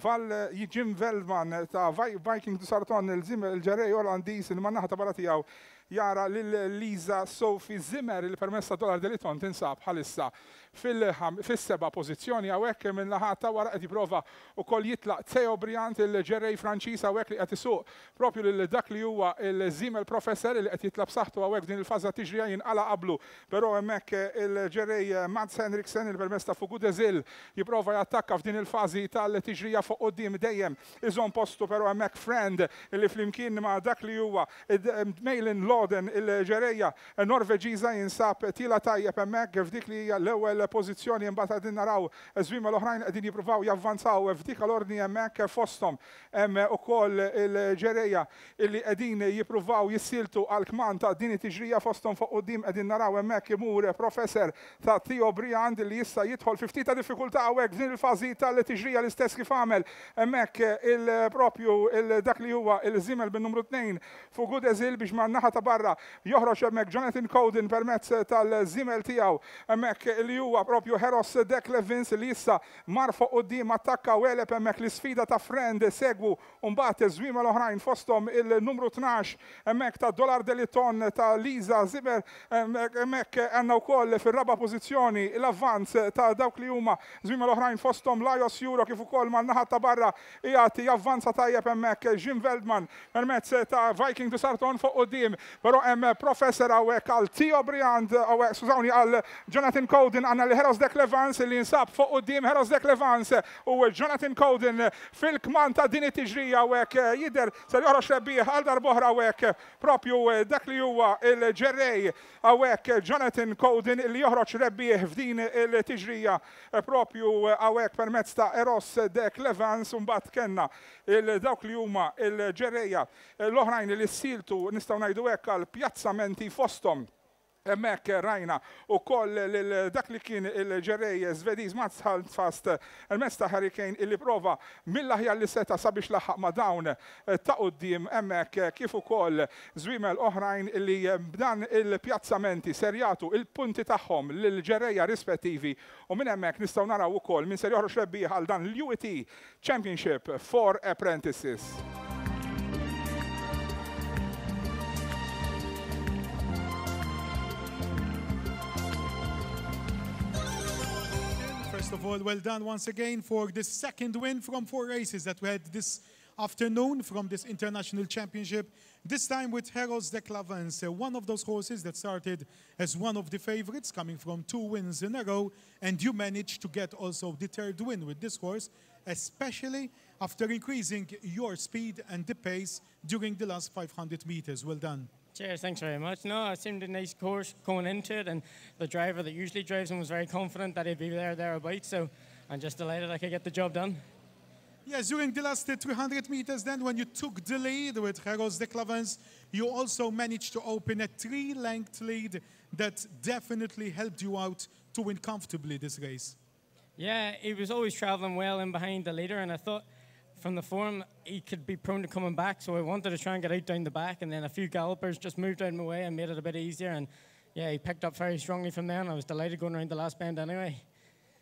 Val Jim Veldman ta' Viking du Sarton, il-ġerrej Olandiż il man-naħa ta' barra tiegħu jara lil Lisa Sophie Zimmer il permezz ta' Dollar Deliton tinsab bħalissa fis-seba' pożizzjoni. Hawnhekk minn naħa ta' wara qed jipprova wkoll jitlaq Theo Briant, il-ġerrej Franċiż hawnhekk li qed isuq propju lil dak li huwa il-Zimmer Professor li qed jitlaq b'saħħtu hawnhekk din il-faża tiġrija. Jinqala qablu però hemmhekk il-ġerrej Mats Henriksen il permezz ta' Fugu Dezil jipprova jattakka f'din il-fażi tal-tiġrija fuq quddiem, dejjem iżomm postu, però hemmhekk Friend li flimkien ma' dak li huwa Mailin Loden, il-ġerreja Norveġiża, jinsab tila tajjeb hemmhekk f'dik li hija l-ewwel pożizzjoni. Imbagħad qegħdin naraw żwiemel l-oħrajn qegħdin jippruvaw javvanzaw f'dik l-ordni hemmhekk, fosthom hemm ukoll il-ġerreja illi qegħdin jippruvaw jissiltu għal kman ta' din it-tiġrija. Fosthom fuq quddiem qegħdin naraw hemmhekk imur Professor ta' Theo Briand li issa jidħol fi ftit ta' diffikultà hawnhekk f'din il-fażi tal-tiġrija, l-istess kif għamel hemmhekk il-propju dak li huwa il-żiemel bin-numru tnejn Fugu Dezil, biex ma' naħa ta' barra joħroġ hemmhekk Jonathan Cowden permezz tal-żiemel tiegħu hemmhekk li huwa propju Heros Dek Levins li issa mar fuq quddiem, attakka u għeleb hemmhekk l-isfida ta' Friend. Segwu mbagħad żwiemel oħrajn, fosthom il-numru tnax hemmhekk ta' Dollar Deliton ta' Lisa Zimmer. Hemmhekk għandna wkoll fir-raba' pożizzjoni l-avvanz ta' dawk li huma żwiemel oħrajn, fosthom Lajos Euro, kif ukoll man-naħa ta' barra qiegħed javvanza tajjeb hemmhekk Jim Veldman permezz ta' Viking du Sarton fuq quddiem, però hemm Professor hawnhekk għal Theo Briand, hawnhekk, skużawni, għal Jonathan Cowden. Għandna li Heros Dek Levans li jinsab fuq quddiem. Heros Dek Levans u Jonathan Cowden fil-kman ta' din it-tiġrija. Hawnhekk jidher ser joħroġ rebbieħ għal darb'oħra hawnhekk propju dak li huwa il-ġerrej hawnhekk Jonathan Cowden li joħroġ rebbieħ f'din il-tiġrija propju hawnhekk permezz ta' Eros Dek Levans. Mbagħad kellna il-dawk li huma il-ġerreja l-oħrajn li ssiltu, nistgħu ngħidu hekk, għal pjazzamenti, fosthom hemmhekk rajna ukoll dak li kien il-ġerrej Svediż Mats Fast il-mezz ta' Hurricane illi prova mill-aħjar li seta sabiex laħaq ma' dawn ta' quddiem hemmhekk, kif ukoll żwiemel oħrajn illi b'dan il-pjazzamenti ser jagħtu il-punti tagħhom lill-ġerreja rispettivi u minn hemmhekk nistgħu naraw ukoll min ser joħroġ rebbieħ għal dan l-U E T Championship for Apprentices. First of all, well done once again for the second win from four races that we had this afternoon from this international championship. This time with Heros de Clavens, uh, one of those horses that started as one of the favorites, coming from two wins in a row, and you managed to get also the third win with this horse, especially after increasing your speed and the pace during the last five hundred meters. Well done. Cheers, thanks very much. No, it seemed a nice course going into it, and the driver that usually drives him was very confident that he'd be there, thereabouts, so I'm just delighted I could get the job done. Yes, during the last uh, three hundred meters then, when you took the lead with Heros de Clavens, you also managed to open a three-length lead that definitely helped you out to win comfortably this race. Yeah, he was always travelling well in behind the leader, and I thought from the form he could be prone to coming back, so I wanted to try and get out down the back, and then a few gallopers just moved out of my way and made it a bit easier, and yeah, he picked up very strongly from there, and I was delighted going around the last bend anyway.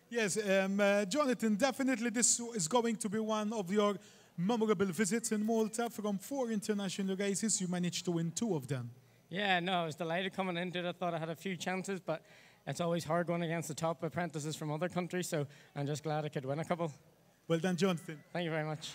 Yes, um, uh, Jonathan, definitely this is going to be one of your memorable visits in Malta. From four international races, you managed to win two of them. Yeah, no, I was delighted coming into it. I thought I had a few chances, but it's always hard going against the top apprentices from other countries, so I'm just glad I could win a couple. Well done, Jonathan. Thank you very much.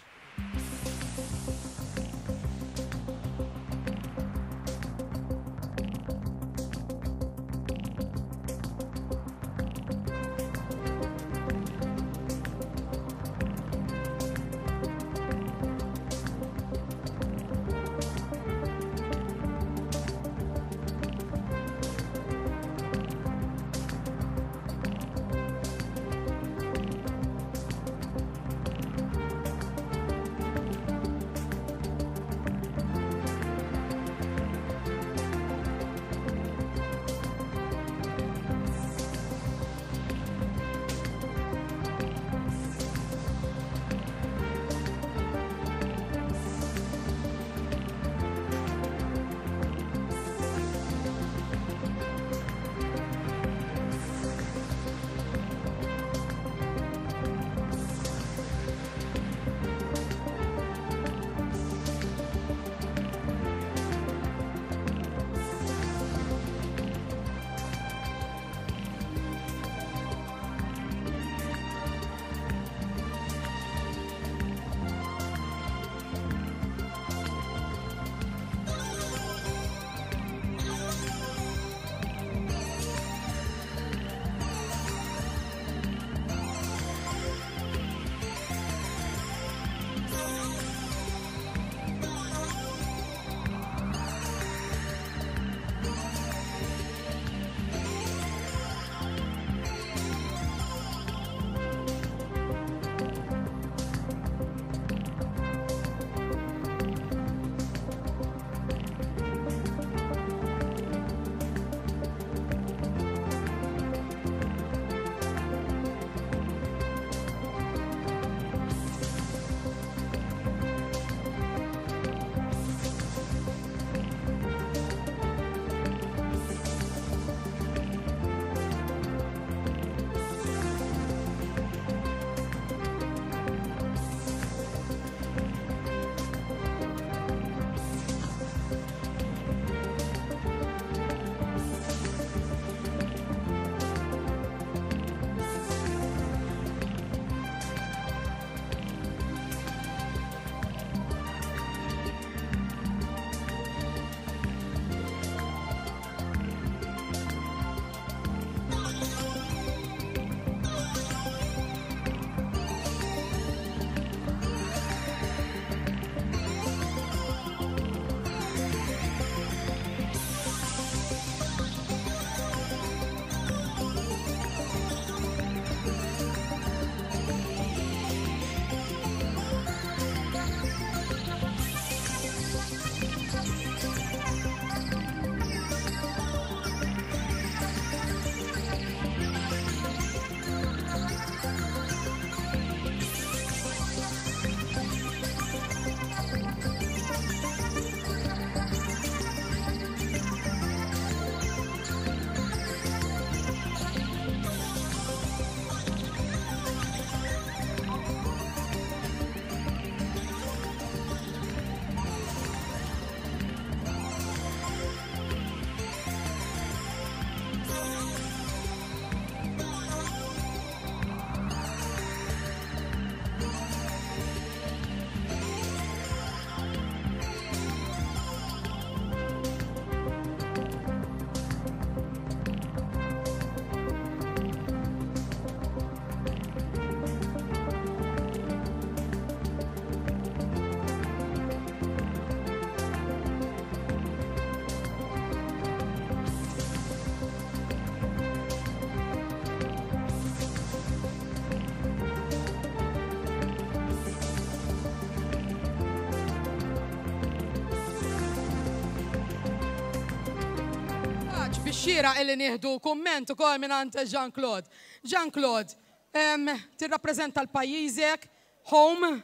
Bix-xieraq illi nieħdu kumment ukoll mingħand Jean-Claude. Jean-Claude, em, tirrappreżenta 'l pajjiżek, home,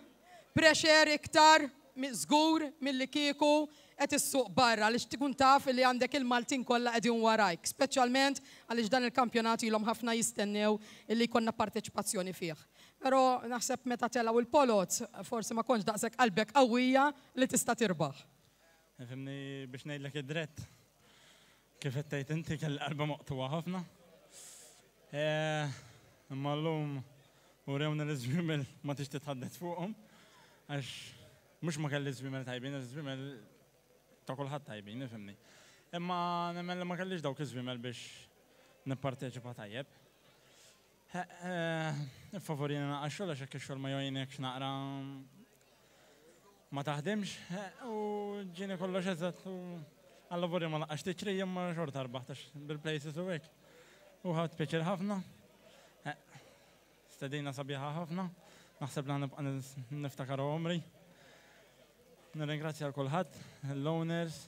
pressure iktar, żgur milli kieku qed issuq barra għaliex tkun taf li għandek il-Maltin kollha qegħdin warajk, speċjalment għaliex dan il-kampjonat ilhom ħafna jistennew illi jkollna parteċipazzjoni fih. Però naħseb meta telgħu il-poloz, forsi ma kontx daqshekk qalbek qawwija li tista' tirbaħ. Ifhimni, biex ngħidlek id-dritt. Kif qed tgħid inti, kelli qalba maqtugħa ħafna. Eh, imma llum urewna li żwiemel ma tix titħaddet fuqhom, għax mhux ma kelli żwiemel tajbin, żwiemel ta' kulħadd tajbin, ifhimni. Imma nemmen li ma kellix dawk iż-żwiemel biex nipparteċipa tajjeb. Favorina naqra xogħol, għax hekk ix-xogħol ma jgħinekx naqra ma taħdimx u ġieni kollox eżatt u għalla ma laqax tiġri, imma xorta rbaħt bil-places u hekk. U ħadt pjaċir ħafna. Stedina sabiħa ħafna. Naħseb li nibqa' niftakar għomri. Nirringrazzja l kulħadd, l-owners,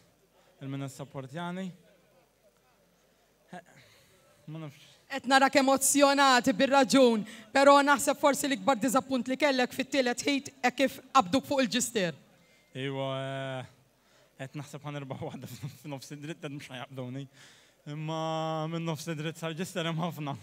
il-min issapportjani. Ma nafx. Qed narak emozjonat bir-raġun, però naħseb forsi l-ikbar diżappunt li kellek fit-tielet heat e kif qabduk fuq il-ġister. Iwa, qed naħseb ħa nirbaħ waħda f'nofs id-dritt, qed mhux ħa jaqbduni. Imma minn nofs id-dritt sal-ġister hemm ħafna.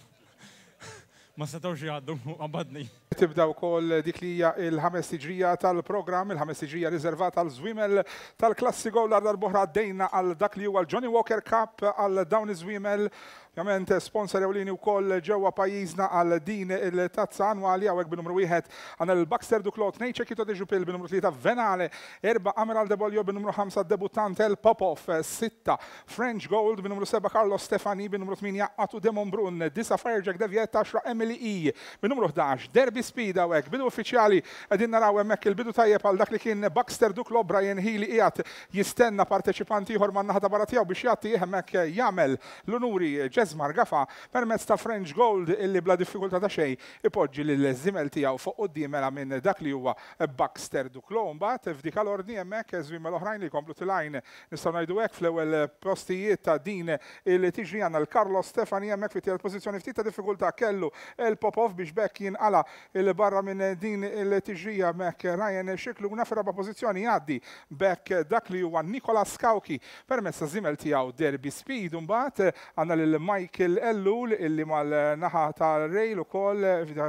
Ma setgħux jgħaddu, qabadni. Tibda wkoll dik li hija il-ħames tiġrija tal-programm, il-ħames tiġrija riservata għal żwiemel tal-klassi Gold. Darb'oħra għaddejna għal dak li huwa l-Johnny Walker Cup għal dawn iż-żwiemel. Ovvjament sponsor ewlieni wkoll ġewwa pajjiżna għal din il-tazza annwali. Hawnhekk bin-numru wieħed għandna l-Baxter Duclos, tnejn Ċekito de Jupil, bin-numru tlieta Venale, erba' Amiral de Bolio, bin-numru ħamsa debutant El Popov, sitta French Gold, bin-numru seba' Carlos Stefani, bin-numru tmienja Atu de Monbrun, disa' Firejack Deviet, għaxra Emily E, bin-numru ħdax Derby Speed. Hawnhekk bidu uffiċjali, qegħdin naraw hemmhekk il-bidu tajjeb għal dak li kien Baxter Duclos. Brian Healy qiegħed jistenna parteċipanti ieħor man-naħa ta' barra tiegħu biex jagħti hemmhekk jagħmel l-unuri Jesmar Gafa permezz ta' French Gold illi bla diffikultà ta' xejn ipoġġi lil żiemel tiegħu fuq quddiem mela minn dak li huwa Baxter Duclos. Mbagħad f'dik l-ordni hemmhekk żwiemel oħrajn li jkomplu tilgħin, nistgħu ngħidu hekk, fl-ewwel postijiet ta' din il-tiġri. Għandna l-Carlos Stefani hemmhekk fit-tielet pożizzjoni. Ftit ta' diffikultà kellu il-Popov biex bekk jinqala il-barra minn din il-tiġrija hemmhekk Ryan Scicluna. Fir-raba' pożizzjoni jgħaddi bekk dak li huwa Nikola Skauki permezz ta' żiemel tiegħu Derby Speed. Mbagħad għandna lil Michael Ellul illi mal-naħa ta' rail ukoll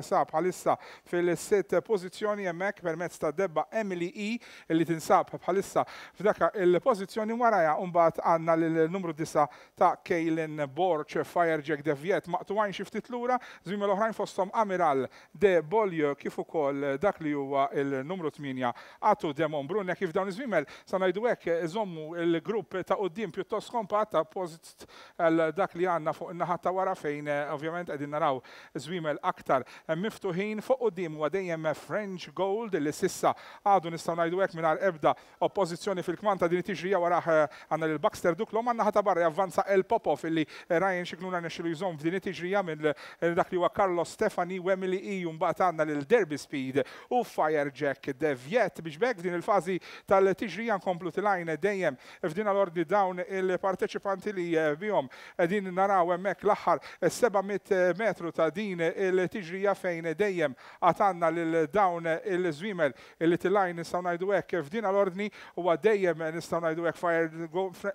sab bħalissa fil-sitt pożizzjoni hemmhekk permezz ta' debba Emily E illi tinsab bħalissa f'daka il-pożizzjoni. Warajha mbagħad għandna lil numru disa ta' Kaylin Borch, Firejack Deviet, maqtugħin xi ftit lura żwiemel oħrajn, fosthom Amiral de Bolio kif ukoll dak li huwa il-numru tmienja Atu Demon Brunne. Kif dawn iż-żwiemel sa ngħidu hekk iżommu il-grupp ta' quddiem pjuttost kompatt ta' post għal dak li għandna fuq in-naħa ta' wara, fejn eh, ovvjament qegħdin naraw żwiemel aktar miftuħin. Fuq quddiem huwa dejjem French Gold li s'issa għadu, nistgħu ngħidu hekk, mingħajr ebda oppożizzjoni fil-kmand ta' din it-tiġrija. Warah eh, għandna lil Baxter Duclos, man-naħa ta' barra javvanza El Popov illi Ryan Scicluna rnexxielu jżomm f'din it-tiġrija minn dak li huwa Carlos Stefani u Emily E. Mbagħad għandna lil Derby Speed u Firejack Deviet biex bekk f'din il-fażi tal-tiġrija nkomplu tilgħin dejjem f'din l-ordni dawn il-parteċipanti li eh, bihom qegħdin naraw hemmhekk l-aħħar seba' mitt metru ta' din il-tiġrija, fejn dejjem għandna lil dawn il-żwiemel illi tilgħin, nistgħu ngħidu hekk, f'din l-ordni. Huwa dejjem, nistgħu ngħidu hekk, Fire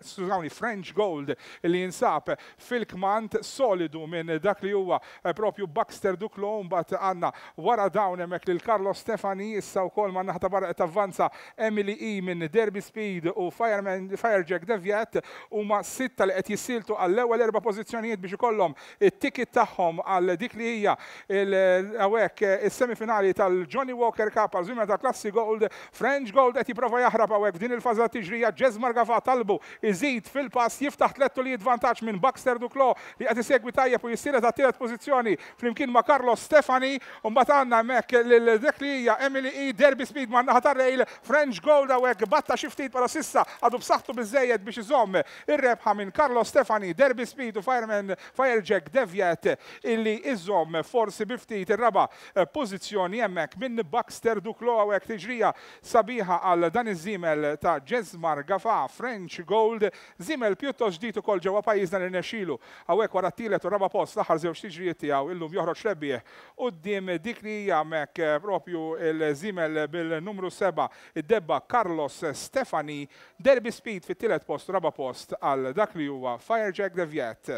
skużawni, French Gold li jinsab fil-kmand solidu minn dak li huwa propju Baxter Duclos. Mbagħad għandna wara dawn hemmhekk lil Carlos Stefani. Issa wkoll man naħa ta' barra qed avvanza Emily E minn Derby Speed u Fireman Firejack Deviet. Huma sitta li qed jissieltu għall-ewwel erba' pożizzjonijiet biex ikollhom it-ticket tagħhom għal dik li hija hawnhekk is-semifinali tal-Johnny Walker Cup għal żwiemel ta' klassi Gold. French Gold qed jipprova jaħrab hawnhekk f'din il-fażi ta' tiġrija. Jesmar Gafa talbu iżid fil-pass, jiftaħ tliet tulijiet vantaġġ minn Baxter Duclos li qed isegwi tajjeb u jissielet għat-tielet pożizzjoni flimkien ma' Carlos Stefani. U mbagħad għandna hemmhekk lil dik li hija Emily E, Derby Speed man naħa tar-rail. French Gold hawnhekk batta xi ftit, però s'issa għadu b'saħħtu biżejjed biex iżomm ir-rebħa minn Carlos Stefani, Derby Speed u Fireman Firejack Deviet illi iżomm forsi bi ftit ir-raba' pożizzjoni hemmhekk minn Baxter Duclos. Hawnhekk tiġrija sabiħa għal dan iż-żiemel ta' Jesmar Gafa, French Gold, żiemel pjuttost ġdid ukoll ġewwa pajjiżna li rnexxielu hawnhekk wara t-tielet u raba' post l-aħħar żewġ tiġrijiet tiegħu illum. joħroġ rebbieħ quddiem dik li hija hemmhekk propju il-żiemel bil-numru seba' id-debba Carlos Stefani, Derby Speed fit-tielet post, raba' post għal dak li huwa Firejack de Viet.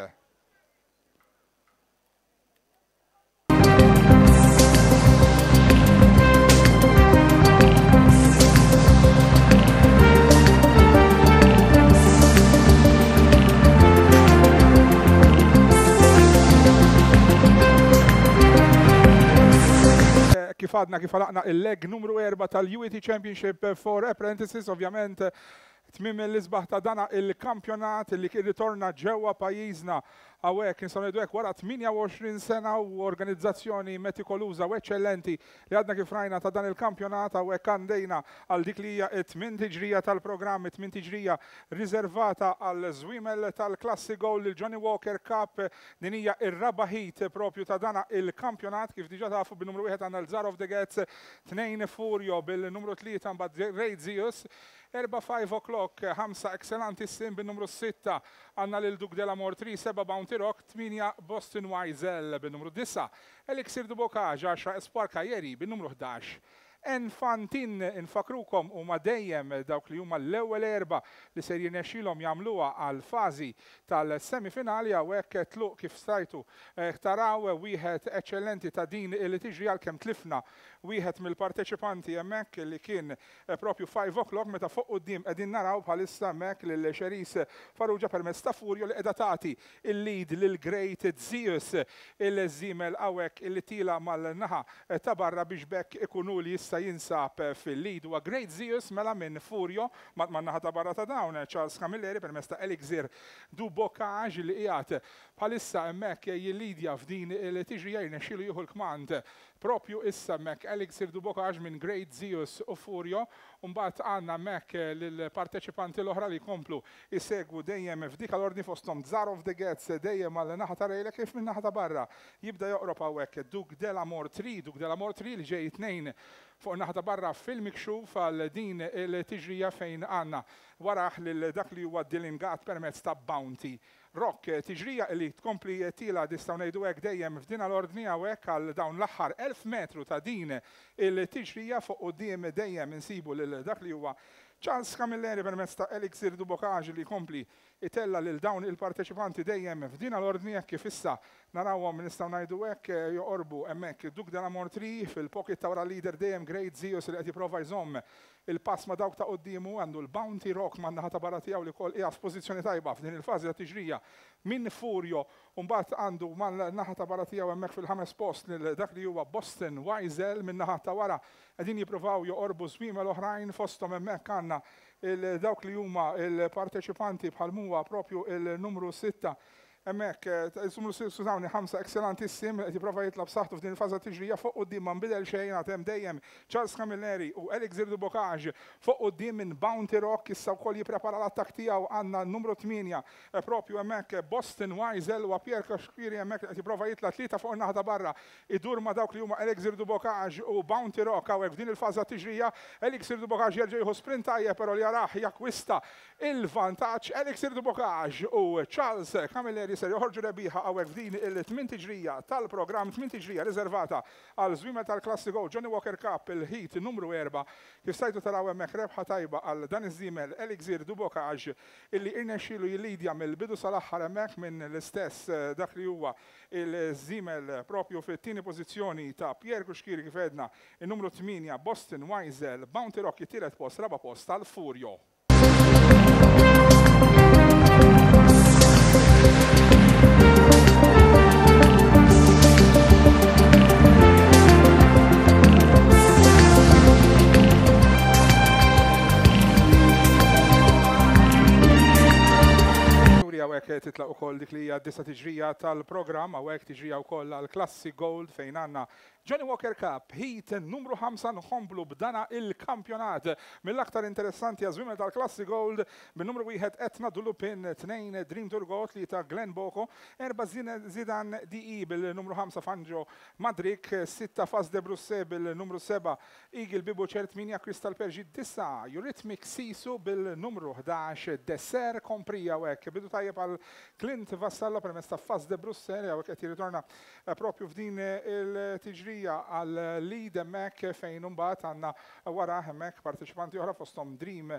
Kif għadna kif għalaqna il-leg numru erba' tal-U E T Championship for Apprentices, ovvjament tmiem l-isbaħ ta' dana il-kampjonat li kien ritorna ġewwa pajjiżna hawnhekk nistgħu ngħidu hekk wara tmienja u għoxrin sena u organizzazzjoni metikoluża u eċċellenti li għadna kif rajna ta' dan il-kampjonat hawnhekk għandejna għal dik li hija t-tmien tiġrija tal-programm, it-tmien tiġrija riservata għal żwiemel tal-Klassi Gold, il-Johnnie Walker Cup. Din hija r-raba' heat propju ta' dana il-kampjonat. Kif diġà tafu bin-numru wieħed għandna l-Zar of the Gets, tnejn Furio bil-numru tlieta mbagħad Ray Zeus, erba' five o'clock, ħamsa Excellenti Sim bin-numru sitta għandna lil Duke de la Mort, seba' Bounty Rock, tmienja Boston Wiesel bin-numru disa', Elixir du Bocage, għaxra Espoir Kajeri bin-numru ħdax. Enfantin, infakrukom huma dejjem dawk li huma l-ewwel erba' li ser jirnexxilhom jagħmluha għal fażi tal-semifinali. Hawnhekk tluq kif stajtu taraw wieħed eċċellenti ta' din li tiġri għalkemm tlifna wieħed mill-parteċipanti hemmhekk li kien propju five o'clock meta fuq quddiem qegħdin naraw bħalissa hemmhekk lil Xeris Farrugia permezz ta' Furio li qiegħda tagħti il-lead lil Great Zeus, il-żiemel hawnhekk li tila mal-naħa ta' barra biex bekk ikunu li jista' jinsab fil-lead. Huwa Great Zeus mela minn Furio man-naħa ta' barra ta' dawn Charles Camilleri permezz ta' Elixir du Bocage li qiegħed bħalissa hemmhekk jillidja f'din il-tiġrija, jirnexxielu jieħu l-kmand propju issa hemmhekk Elixir du Bocage minn Great Zeus u Furio. Mbagħad għandna hemmhekk lill-parteċipanti l-oħra li jkomplu jsegwu dejjem f'dik l-ordni fosthom Zar of the Gets dejjem għal naħa ta' Rejla kif minn naħa ta' barra jibda joqrob hawnhekk Duke de la Mort, Duke de la Mort li ġej tnejn fuq naħa ta' barra fil-mikxuf għal din il-tiġrija fejn għandna waraħ lil dak li huwa Dillingat permezz ta' Bounty Rock. Tiġrija li tkompli tila nistgħu ngħidu hekk dejjem f'din l-ordni hawnhekk għal dawn l-aħħar elf metru ta' din il-tiġrija. Fuq quddiem dejjem insibu lil dak li huwa Charles Camilleri permezz ta' Elixir du Bocage li jkompli itella lil dawn il-parteċipanti dejjem f'din l-ordni hekk kif issa narawhom nistgħu ngħidu hekk joqorbu hemmhekk Duke de la Mort fil-pocket ta' wara leader dejjem Great Zeus li qed jipprova jżomm il-pass ma' dawk ta' quddiemu, għandu l-Bounty Rock man-naħa ta' barra tiegħu li wkoll qiegħed f'pożizzjoni tajba f'din il-fażi ta' tiġrija minn Furio, u mbagħad għandu man-naħa ta' barra tiegħu hemmhekk fil-ħames post lil dak li huwa Boston Wiesel. Min-naħa ta' wara qegħdin jippruvaw joqorbu żwiemel oħrajn fosthom hemmhekk għandna dawk li huma l-parteċipanti bħal huwa propju il-numru sitta hemmhekk, numru skużawni ħamsa Excellentissим qed jipprova jitla' b'saħħtu f'din il-faża tiġrija. Fuq quddiem ma nbidel xejn, għad hemm dejjem Charles Camilleri u Elixir du Bocage fuq quddiem minn Bounty Rock issa wkoll jipprepara l-attakk tiegħu. Għandna n-numru tmienja propju hemmhekk Boston Wiesel u Pierre Cuschieri hemmhekk qed jipprova jitla' tlieta fuq in-naħa ta' barra idur ma' dawk li huma Elixir du Bocage u Bounty Rock. Hawnhekk f'din il-faża tiġrija Elixir du Bocage jerġa' jieħu sprint tajjeb però li jarah jakkwista il-vantaġġ. Elixir du Bocage u Charles Camilleri ser joħorġu rebbieħa hawnhekk f'din il-tmien tiġrija tal-programm, tmien tiġrija riservata għal żwiemel tal-Klassi Gold Johnnie Walker Cup, il-heat numru erba'. Kif stajtu taraw hemmhekk rebħa tajba għal dan iż-żiemel Elixir du Bocage illi irnexxielu jillidja mill-bidu sal-aħħar hemmhekk minn l-istess dak li huwa il-żiemel propju fit-tieni pożizzjoni ta' Pierre Cuschieri kif għedna, in-numru tmienja Boston Wiesel, Bounty Rock it-tielet post, raba' post tal-Furio. Hawnhekk titlaq ukoll dik li hija disa tiġrija tal-programm, hawnhekk tiġrija wkoll għall-Klassi Gold fejn għandna Johnnie Walker Cup, heat numru ħamsa, nkomplu b'dana il-kampjonat mill-aktar interessanti għaż-żwiemel tal-Klassi Gold bin-numru wieħed Etna Dulupin, tnejn Dream Turgot li ta' Glenn Boko, erba' Zidane D E bil-numru ħamsa Fangio Madrik, sitta Fas de Brusse bil-numru seba' Eagle Bibu Ċert, tmienja Crystal Pergi, disgħa Eurythmic Sisu bil-numru ħdax Desser Komprija. Hekk bidu tajjeb għal Clint Vassallo permezz ta' Fas de Brusse, hawnhekk qed jirritorna propju f'din il-tiġrija għal lead hemmhekk, fejn imbagħad għandna wara hemmhekk parteċipanti oħra, fosthom Dream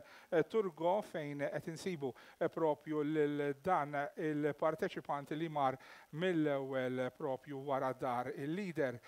Turgo, fejn qed insibu propju lil dan il-parteċipanti li mar mill-ewwel propju wara dar il-leader,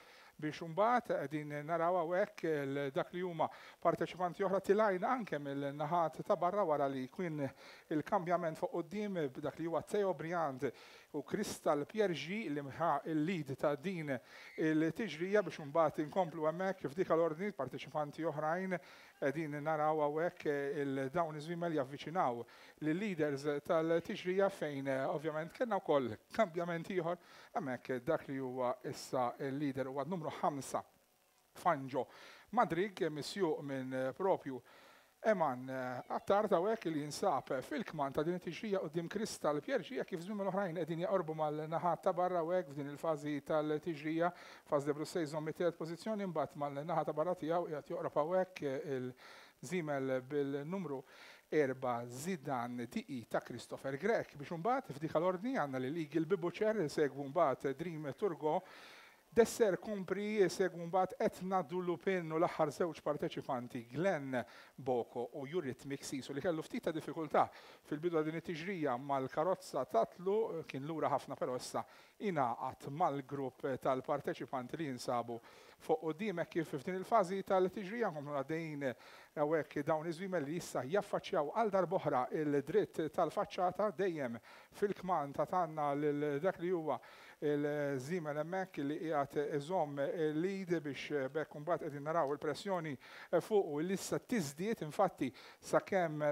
biex imbagħad qegħdin naraw hawnhekk dak li huma parteċipanti oħra tilgħin anke mill-naħat ta' barra wara li kien il-kambjament fuq quddiem b'dak li huwa Theo Briand u Crystal Piergi li ħa il-lead ta' din il-tiġrija, biex imbagħad inkomplu hemmhekk f'dik l-ordni parteċipanti oħrajn. Qegħdin naraw hawnhekk il-dawn iż-żwiemel javviċinaw lill-leaders tal-tiġrija, fejn ovvjament kellna wkoll kambjament ieħor hemmhekk. Dak li huwa issa il-leader huwa numru ħamsa Fangio Madrig, misjuq minn propju Eman Attard hawnhekk li jinsab fil-kman ta' din it-tiġrija quddiem Crystal Piergi, kif żwiemel oħrajn qegħdin jaqorbu mal-naħat ta' barra hawnhekk f'din il-fażi tal-tiġrija. Fas de Brussels jżomm it-tielet pożizzjoni, mbagħad mal-naħa ta' barra tiegħu qiegħed joqrob hawnhekk il-żiemel bil-numru erba' Zidane D E ta' Christopher Grech, biex imbagħad f'dik l-ordni għandna lil Eagle Bibuċer, segwu mbagħad Dream Turgo, Desser Kumpri, segwu mbagħad Etna Dulupin u l-aħħar żewġ parteċipanti Glenn Boko u Eurythmic Sisu, li kellu ftit ta' diffikultà fil-bidu din it-tiġrija mal-karozza tatlu, kien lura ħafna, però issa ingħaqad mal-grupp tal-parteċipanti li jinsabu fuq quddiem kif f'din il-fażi tal-tiġrija nkomplu għaddejjin hawnhekk dawn iż-żwiemel li issa jaffaċċjaw għal darb'oħra il-dritt tal-faċċata, dejjem fil-kman ta' tanna lil dak li huwa il-żiemel hemmhekk li qiegħed iżomm il-lead, biex bekk imbagħad qegħdin naraw il-pressjoni fuq u issa tiżdied. Infatti, sakemm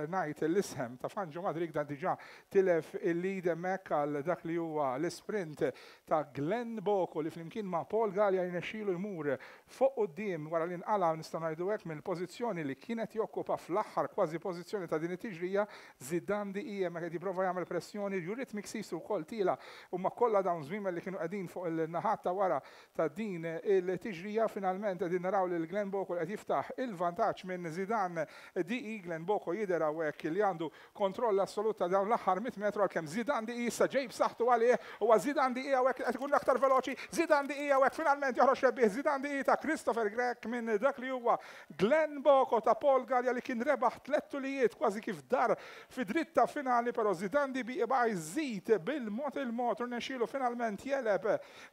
ngħid l-isem ta' Fangio Madrid, dan diġà tilef il-lead hemmhekk għal dak li huwa l-sprint ta' Glenn Boko, li flimkien ma' Paul Gallia jnexxielu jmur fuq quddiem wara li nqala, nistgħu ngħidu hekk, mill-pożizzjoni li kienet jokkupa fl-aħħar kważi pożizzjoni ta' din it-tiġrija. Zidane D E hemmhekk qed jipprova jagħmel pressjoni, Eurythmic Sisu wkoll tiela', u ma kollha dawn żwiemel li kienu qegħdin fuq il-naħat ta' wara ta' din il-tiġrija. Finalment qegħdin naraw lil Glenn Boko qed jiftaħ il-vantaġġ minn Zidane D E. Glenn Boko jidher hawnhekk li għandu kontroll assolut ta' dawn l-aħħar mitt metru, għalkemm Zidane D E issa ġej b'saħħtu għalih. Huwa Zidane D E hawnhekk qed ikun aktar veloċi. Zidane D E hawnhekk finalment joħroġ rebbieħ, Zidane D E ta' Christopher Grech minn dak li huwa Glenn Boko ta' Paul Gallia, li kien rebaħ tliet tulijiet kważi kif dar fi dritta finali, però Zidane D E baqa' jżid bil-mod il-mod u rnexxielu finalment jegħleb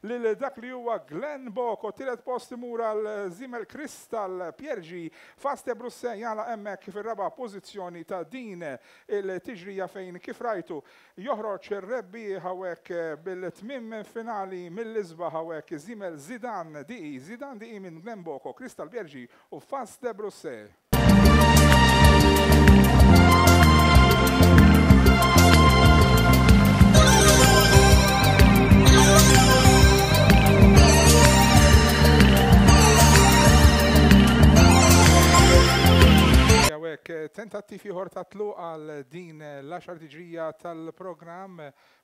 lil dak li huwa Glenn Boko. Tielet post imur għal żiemel Crystal Piergi. Faste Brusse jagħlaq hemmhekk fir-raba' pożizzjoni ta' din il-tiġrija, fejn kif rajtu joħroġ ir-rebbieħ hawnhekk bil-tmim finali mill-isbaħ hawnhekk żiemel Zidane D E, Zidane D E minn Glenn Boko, Crystal Piergi u Faste Brusse. Hawnhekk tentattiv ieħor ta' tluq għal din l-għaxar tiġrija tal-programm,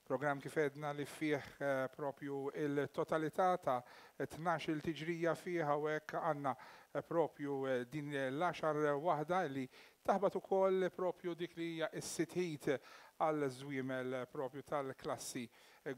programm kif għedna li fih eh, propju il-totalità ta' tnax-il tiġrija fih. Hawnhekk għandna eh, propju eh, din l-għaxar waħda li taħbat ukoll propju dik li hija s-sitt heat għal żwiemel propju tal-klassi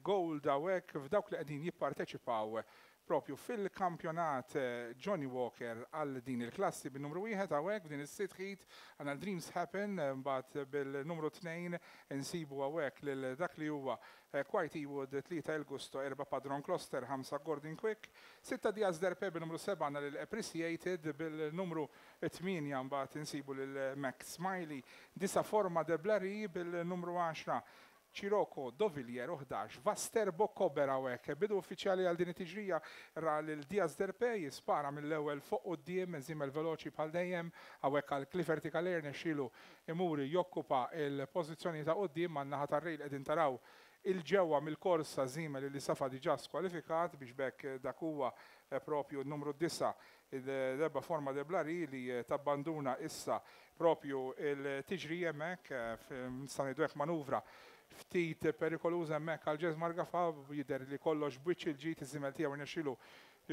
Gold, hawnhekk f'dawk li qegħdin jipparteċipaw propju fil-kampjonat eh, Johnnie Walker għal din il-klassi. Bin-numru wieħed hawnhekk f'din is-sitt heat għandna Dreams Happen, eh, mbagħad bil-numru tnejn insibu hawnhekk lil dak li huwa eh, Quite Ewood, tlieta El Gusto, erba' Padron Kloster, ħamsa Gordon Quick, sitta Diaz Derpe, bil-numru seba' għandna lil Appreciated, bil-numru tmienja mbagħad insibu lil Max Smiley, disgħa Forma de Blary, bil-numru għaxra Cirocco Dovillier u ħdax Vaster Bokkober. Hawnhekk bidu uffiċjali għal din it-tiġrija ra lil Diaz Derpe jispara mill-ewwel fuq quddiem, żiemel veloċi bħal dejjem. Hawnhekk għal Clifford Kaler nexxielu imuri jokkupa il-pożizzjoni ta' quddiem. Man-naħa tar-rail qegħdin taraw 'il ġewwa mill-korsa żiemel li safa diġà skwalifikat biex b'hekk dak huwa propju n-numru disa' il-rebba Forma de Blari li tabbanduna issa propju il-tiġrija hemmhekk, nista' ngħidu hekk manuvra ftit perikoluża hemmhekk għal Jesmar Gafa, jidher li kollox b'wiċċ il-ġid iż-żiemel tiegħu rnexxielu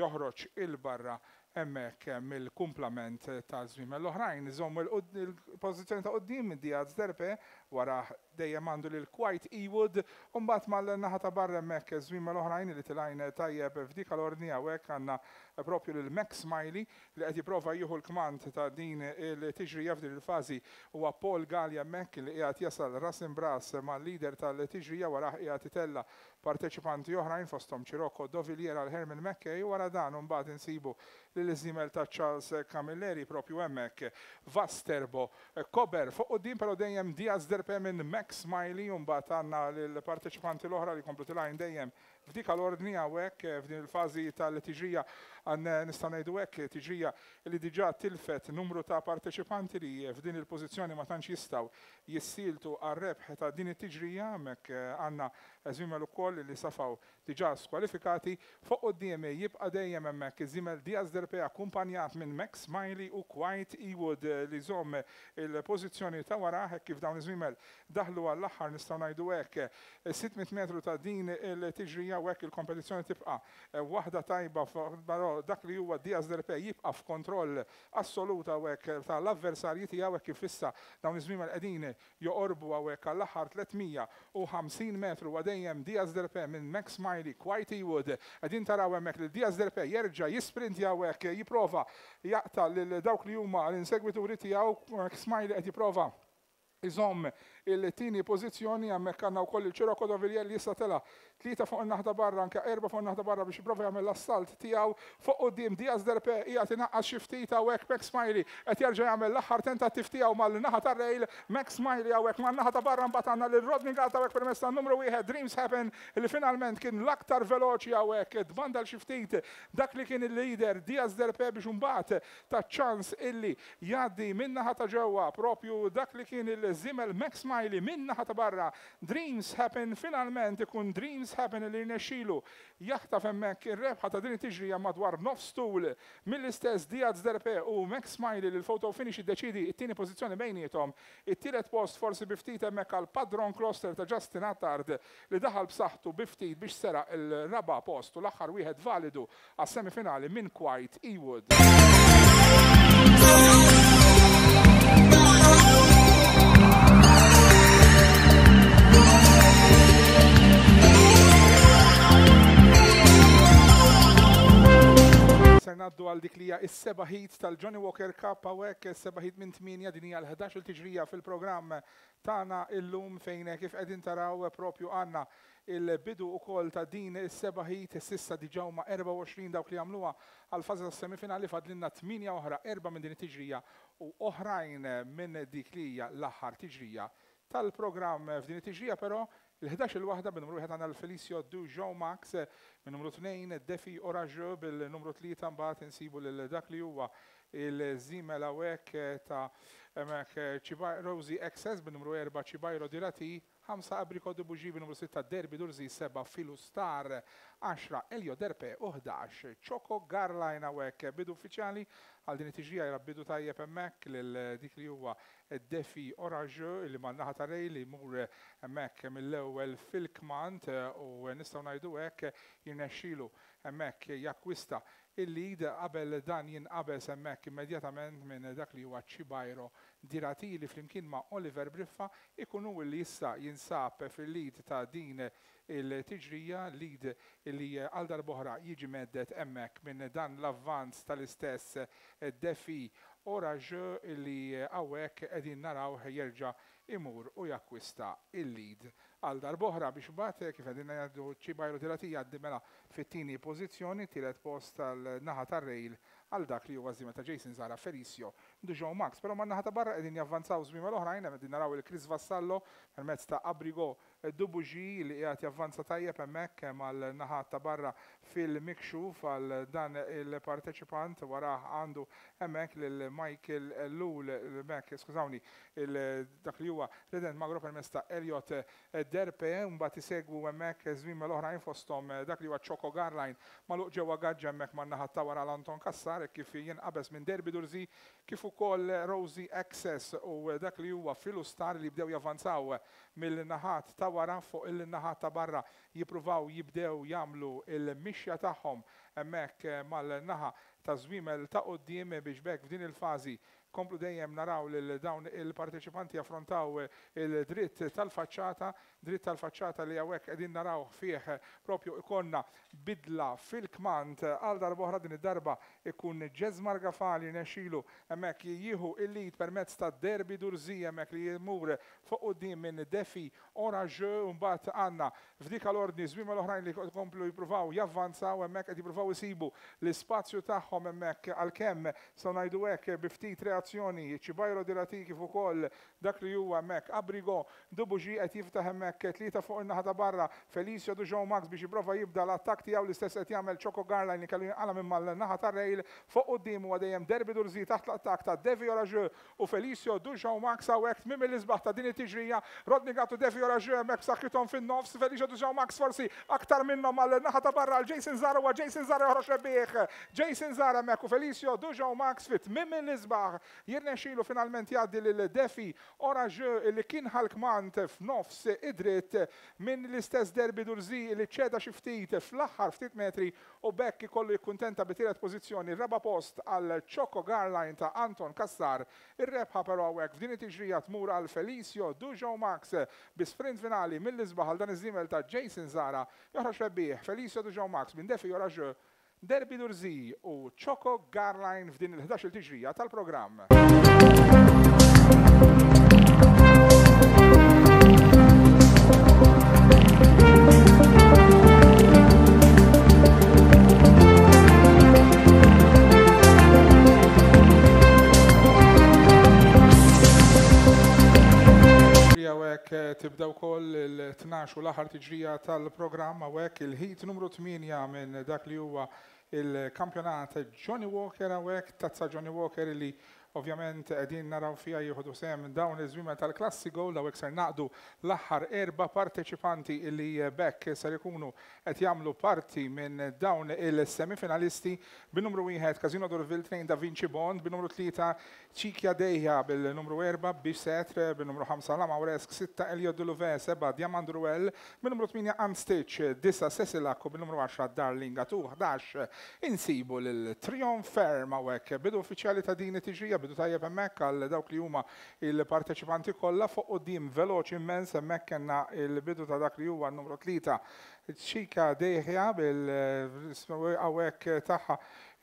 joħroġ 'il barra hemmhekk mill-kumplament ta' żwiemel l-oħrajn. Iżommu il-pożizzjoni ta' quddiem Diaz Derpe, wara dejjem għandu lil Quite Ewood, u mbagħad mal-naħa ta' barra hemmhekk żwiemel oħrajn li tilgħin tajjeb f'dik l-ordni. Hawnhekk għandna propju lil Max Smiley li qed jipprova jieħu l-kmand ta' din il-tiġrija f'din il-fażi. Huwa Paul Gallia hemmhekk li qiegħed jasal ras imbras mal-leader tal-tiġrija, warah qiegħed itella parteċipanti oħrajn fosthom Cirocco Dovillier għal Herman McKay. Wara dan mbagħad insibu lil żiemel ta' Charles Camilleri propju hemmhekk Vasterbo Kober fuq quddiem, però dejjem Diaz Derpe minn Max Smiley, u mbagħad għandna lill-parteċipanti l-oħra li jkomplu tilgħin dejjem f'dik l-ordni. Hawnhekk f'din il-fażi tal-tiġrija għan nistgħu ngħidu hekk tiġrija li diġà tilfet numru ta' parteċipanti li f'din il-pożizzjoni ma tantx jistgħu jissieltu għar-rebħ ta' din it-tiġrija. Hemmhekk għandna żwiemel ukoll li safaw diġà skwalifikati. Fuq quddiem jibqa' dejjem hemmhekk iż-żiemel Diaz Derpe akkumpanjat minn Max Smiley u Quite Ewood li żomm il-pożizzjoni ta' wara hekk kif dawn iż-żwiemel daħlu għall-aħħar nistgħu ngħidu hekk sitt mitt metru ta' din il-tiġrija. U hekk il-kompetizzjoni tibqa' waħda tajba, però dak li huwa Diaz Derpe jibqa' f'kontroll assolut hawnhekk tal-avversarji tiegħu hekk kif issa dawn iż-żwiemel qegħdin joqorbu hawnhekk għall-aħħar tliet mija u ħamsin metru. Wa dejjem Diaz Derpe minn Max Smiley, Quite Ewood. Qegħdin taraw hemmhekk li Diaz Derpe jerġa' jisprintja hawnhekk, jipprova jaqta' lil dawk li huma l-insegwituri tiegħu. Max Smiley qed jipprova iżomm il-tieni pożizzjoni. Hemmhekk għandna wkoll il-Cirocco Dovillier li issa tela' tlieta fuq in-naħa ta' barra, anke erba' fuq in-naħa ta' barra biex jipprova jagħmel l-assalt tiegħu. Fuq quddiem Diaz Derpe qiegħed inaqqas xi ftit hawnhekk. Max Smiley qed jerġa' jagħmel l-aħħar tentattiv tiegħu mal-naħa tar-rail. Max Smiley hawnhekk man-naħa ta' barra, mbagħad għandna lil Rodney Gatt hawnhekk permezz tan-numru wieħed Dreams Happen li finalment kien l-aktar veloċi hawnhekk, tbandal xi ftit dak li kien il-leader Diaz Derpe biex imbagħad ta' ċans illi jgħaddi min-naħa ta' ġewwa propju dak li kien il-żiemel Max Smiley. Min-naħa ta' barra Dreams Happen, finalment ikun Dreams Happen li rnexxielu jaħtaf hemmhekk ir-rebħa ta' din it-tiġrija madwar nofs tul mill-istess Diaz Derpe u Max Smiley li l-photo finish iddeċidi t-tieni pożizzjoni bejniethom. It-tielet post forsi bi ftit hemmhekk għal Padron Kloster ta' Justin Attard li daħal b'saħħtu bi ftit biex seraq il-raba' post u l-aħħar wieħed validu għas-semifinali minn Quite Ewood. Ser ngħaddu għal dik li hija s-seba' heat tal-Johnnie Walker Cup hawnhekk, is-seba' heat minn tmienja, din hija l-ħdax il tiġrija fil-programm tagħna illum fejn kif qegħdin taraw propju għandna il-bidu ukoll ta' din is-seba' heat. S'issa diġà huma erbgħa u għoxrin dawk li għamluha għall-fażi tas-semifinali, fadlilna tmienja oħra, erba' minn din it-tiġrija u oħrajn minn dik li hija l-aħħar tiġrija tal-programm. F'din it-tiġrija però il-ħdax il-waħda bin-numru wieħed għandna l-Felicio Du Joe Max, minn numru tnejn Defi Oraggio, bil-numru tlieta mbagħad insibu lil dak li huwa il-żiemel hawnhekk ta' hemmhekk Rosie Access, bin-numru erba' Cibajro Dirati, ħamsa Abricot de Bougie, bin-numru sitta Derby Durzi, seba' Filu Star, għaxra Elio Derpe u ħdax Choco Garline. Hawnhekk bidu uffiċjali għal din it-tiġrija, jara bidu tajjeb hemmhekk lil dik li huwa Defi Oraggio li man-naħa ta' Rej li jmur hemmhekk mill-ewwel fil-kmand u nistgħu ngħidu hekk jirnexxielu hemmhekk jakkwista il-lead qabel dan jinqabeż hemmhekk immedjatament minn dak li huwa Cibajro Dirati li flimkien ma' Oliver Briffa ikunu li issa jinsab fil-lead ta' din il-tiġrija, lead li għal darb'oħra jiġi meddet hemmhekk minn dan l-avvanz tal-istess Defi Oraggio li hawnhekk qegħdin naraw jerġa' imur u jakkwista il-lead għal darb'oħra biex mbagħad kif qegħdin ngħidu Cibajro Dirati jgħaddi mela fit-tieni pożizzjoni, tielet post tal-naħa tar-rail għal dak li huwa żiemel ta' Jason Zara Felicio Dujon Max. Però man-naħa ta' barra qegħdin javvanzaw żwiemel oħrajn, hemm qegħdin naraw il-Chris Vassallo permezz ta' Abrigo Dubuġi li qiegħed javvanza tajjeb hemmhekk mal-naħa ta' barra fil-mikxuf għal dan il-parteċipant. Warah għandu hemmhekk lil Michael Ellul, hemmhekk skużawni, dak li huwa Redent Magro permezz ta' Elliot Derpe, mbagħad isegwu hemmhekk żwiemel oħrajn fosthom dak li huwa Choco Garline magħluq ġewwa gaġġa hemmhekk man-naħa ta' wara l-Anton Cassar kif jinqabeż minn Derby Durzi, kif ukoll Rosie Access u dak li huwa Filustar li jibdew javvanzaw mill-naħat ta' wara fuq il-naħat ta' barra, jippruvaw jibdew jagħmlu il-mixja tagħhom hemmhekk mal-naħa ta' żwiemel ta' quddiem biex bekk f'din il-fażi komplu dejjem naraw lil dawn il-parteċipanti affrontaw il-dritt tal-faċċata, dritt tal-faċċata li hawnhekk qegħdin naraw fih propju ikonna bidla fil-kmand għal darb'oħra. Din id-darba ikun Jesmar Gafali nexxilu hemmhekk jieħu il-lead permezz ta' Derby Durzi hemmhekk li jmur fuq quddiem minn Defi Orage, u mbagħad għandna f'dik l-ordni żwiemel oħrajn li komplu jippruvaw javvanzaw hemmhekk qed jippruvaw isibu l-ispazju tagħhom hemmhekk għalkemm se ngħidu hekk bi ftit reazzjoni Ċibajro Dirati kif ukoll dak li huwa hemmhekk Abrigo Dubuġi qed jiftaħ hemmhekk tlieta fuq in-naħa ta' barra Felicio Dujon Max biex jipprova jibda l-attakk tiegħu, l-istess qed jagħmel Choco Garline li kellu jinqala minn mal-naħa tar-rail. Fuq quddiem huwa dejjem Derby Durzi taħt l-attakk ta' Devi Orage u Felicio Dujon Max. Hawnhekk tmiem l-isbaħ ta' din it-tiġrija, Rodney Gattu Devi Orage hemmhekk b'saħħithom fin-nofs, Felicio Dujon Max forsi aktar minnhom mal-naħa ta' barra għal Jason Zara, u Jason Zara joħroġ rebbieħ. Jason Zara hemmhekk u Felicio Dujon Max fit tmiem l-isbaħ jirnexxilu finalment jgħaddi lil Defi Orage li kien ħal-kmand f'nofs id-dritt minn l-istess Derby Durzi li ċeda xi ftit fl-aħħar ftit metri u bekk ikollu jikkuntenta bi tielet pożizzjoni, raba' post għal Choco Garline ta' Anton Cassar. Ir-rebħa però hawnhekk f'din it-tiġrija tmur għal Felicio Dujon Max bi sprint finali mill-isbaħ għal dan iż-żiemel ta' Jason Zara. Joħroġ rebbieħ Felicio Dujon Max minn Defi Orage, Derby Durzi u Choco Garline f'din il-ħdax-il tiġrija tal-programm. Tibda wkoll il-tnax u l-aħħar tiġrija tal-programm hawnhekk il-ħit numru tmienja minn dak li huwa il-kampjonat Johnny Walker hawnhekk, tazza Johnny Walker li ovvjament qegħdin naraw fiha jieħdu sehem dawn iż-żwiemel tal-klassi Gold. Hawnhekk ser naqdu l-aħħar erba' parteċipanti li bekk ser ikunu qed jagħmlu parti minn dawn il-semifinalisti, bin-numru wieħed Casino Durville, tnejn Da Vinci Bond, bin-numru tlieta Ċikja Dejja, bil-numru erba' Bisetre, bin-numru ħamsa La Mauresk, sitta Elio Duluve, seba' Diamant Ruel, bin-numru tmienja Unstitch, disa' Cecilak u bin-numru għaxra Darling Atu. Ħdax insibu lil Triumph Ferm hawnhekk, bidu uffiċjali ta' din it-tiġrija, bidu tajjeb hemmhekk għal dawk li huma il-parteċipanti kollha. Fuq quddiem veloċi immens hemmhekk kellna il-bidu ta' dak li huwa n-numru tlieta Ċika Dejja bil hawnhekk tagħha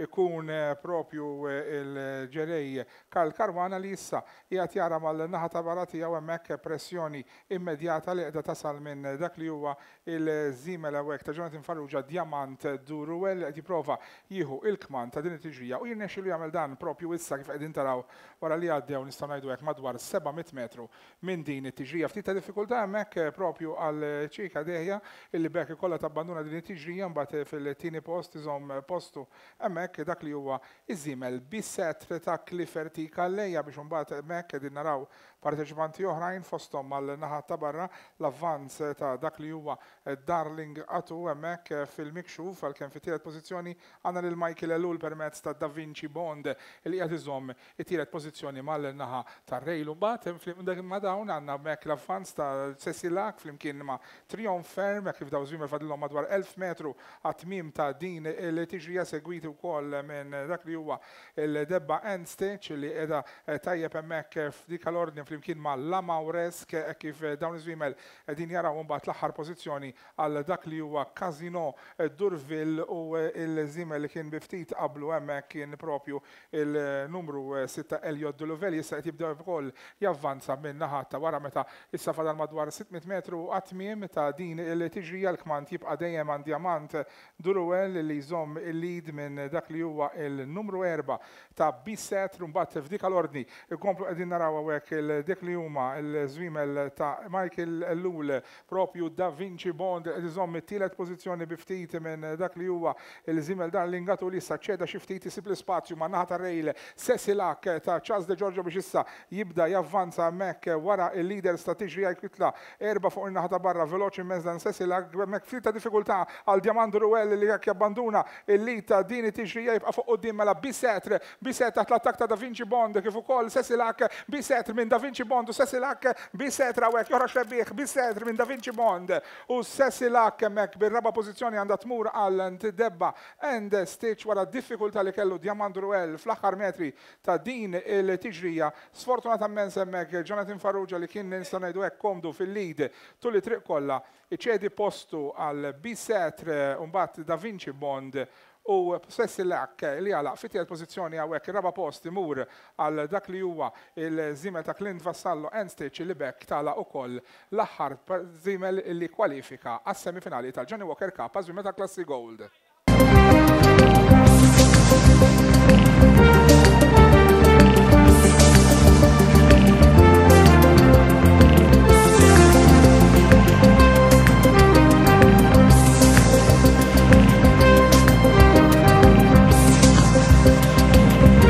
ikun propju il-ġerej Karl Caruana li issa qiegħed jara mal-naħa ta' barra tiegħu hemmhekk pressjoni immedjata li qiegħda tasal minn dak li huwa il-żiemel hawnhekk ta' Jonathan Farrugia Diamant Duruel qed jipprova jieħu il-kmand ta' din it-tiġrija u jirnexxilu jagħmel dan propju issa kif qegħdin taraw wara li għaddew nistgħu ngħidu hekk madwar seba' mitt metru minn din it-tiġrija. Ftit ta' diffikultà hemmhekk propju għal Ċika Dejja illi bekk ikollha tabbanduna din it-tiġrija, mbagħad fil-tieni post iżomm postu hemmhekk dak li huwa iż-żiemel Bisetre ta' Clifford Calleja biex imbagħad hemmhekk qegħdin naraw parteċipanti oħrajn fosthom mal-naħa ta' barra l-avvanz ta' dak li huwa Darling Atu hemmhekk fil-mikxuf, għalkemm fit-tielet pożizzjoni għandna lil Michael Ellul permezz ta' Da Vinci Bond li qiegħed iżomm it-tielet pożizzjoni mal-naħa tar-rail. Mbagħad ma' dawn għandna hemmhekk l-avvanz ta' Cecilak flimkien ma' Triumph Ferm kif daw żwiemel fadlilhom madwar elf metru għat-tmiem ta' din il-tiġrija, segwiti wkoll minn dak li huwa il-debba End Stitch li qiegħda tajjeb hemmhekk f'dik l-ordni flimkien ma' La Mauresk kif dawn iż-żwiemel qegħdin jaraw mbagħad l-aħħar pożizzjoni għal dak li huwa Casino Durville u il-żiemel li kien bi ftit qablu hemmhekk kien propju il-numru sitta Elliot Duluvel issa qed jibdew ukoll javvanza minn naħa ta' wara meta issa fadal madwar sitt mitt metru għat-tmiem ta' din il-tiġrija. L-kmand jibqa' dejjem għand Diamant Duruel li jżomm il-lead minn dak dak li huwa il-numru erba' ta' Biset. Mbagħad f'dik l-ordni ikomplu qegħdin naraw hawnhekk dik li huma l-żwiemel ta' Michael Ellul, propju Da Vinci Bond qed iżomm it-tielet pożizzjoni bi ftit minn dak li huwa il-żiemel Darlingatu, li issa ċeda xi ftit, isib l-ispazju ma' naħa tar-rail Cecilak ta' Charles De Giorgio biex issa jibda javvanza hemmhekk wara il-leaders ta' tiġrija. Jitla erba' fuq in-naħa ta' barra, veloċi immens dan Cecilak. Hemmhekk ftit ta' diffikultà għal Diamando Ruel li jekk jabbanduna il-lead ta' din it-tiġrija, jibqa' fuq quddiem mela Bisetre. Bisetre taħt l-attak ta' Da Vinci Bond kif ukoll Cecilak. Bisetre minn Da Vinci Bond u Cecilak. Bisetre hawnhekk joħroġ rebbieħ, Bisetre minn Da Vinci Bond u Cecilak hemmhekk. Bir-raba' pożizzjoni għandha tmur għal Debba and Stitch wara diffikultà li kellu Diamando Ruel fl-aħħar metri ta' din il-tiġrija. Sfortunatament hemmhekk Jonathan Farrugia, li kien, nistgħu ngħidu hekk, komdu fil-lead tul it-triq kollha, iċedi postu għal Bisetre, mbagħad Da Vinci Bond u Cecilak li għalaq fit-tielet pożizzjoni. Hawnhekk ir-raba' post imur għal dak li huwa il-żiemel ta' Clint Vassallo and Stitch, li b'hekk tala ukoll l-aħħar żiemel li kwalifika għas-semifinali tal-Johnny Walker Cup għaż ta' Klassi Gold.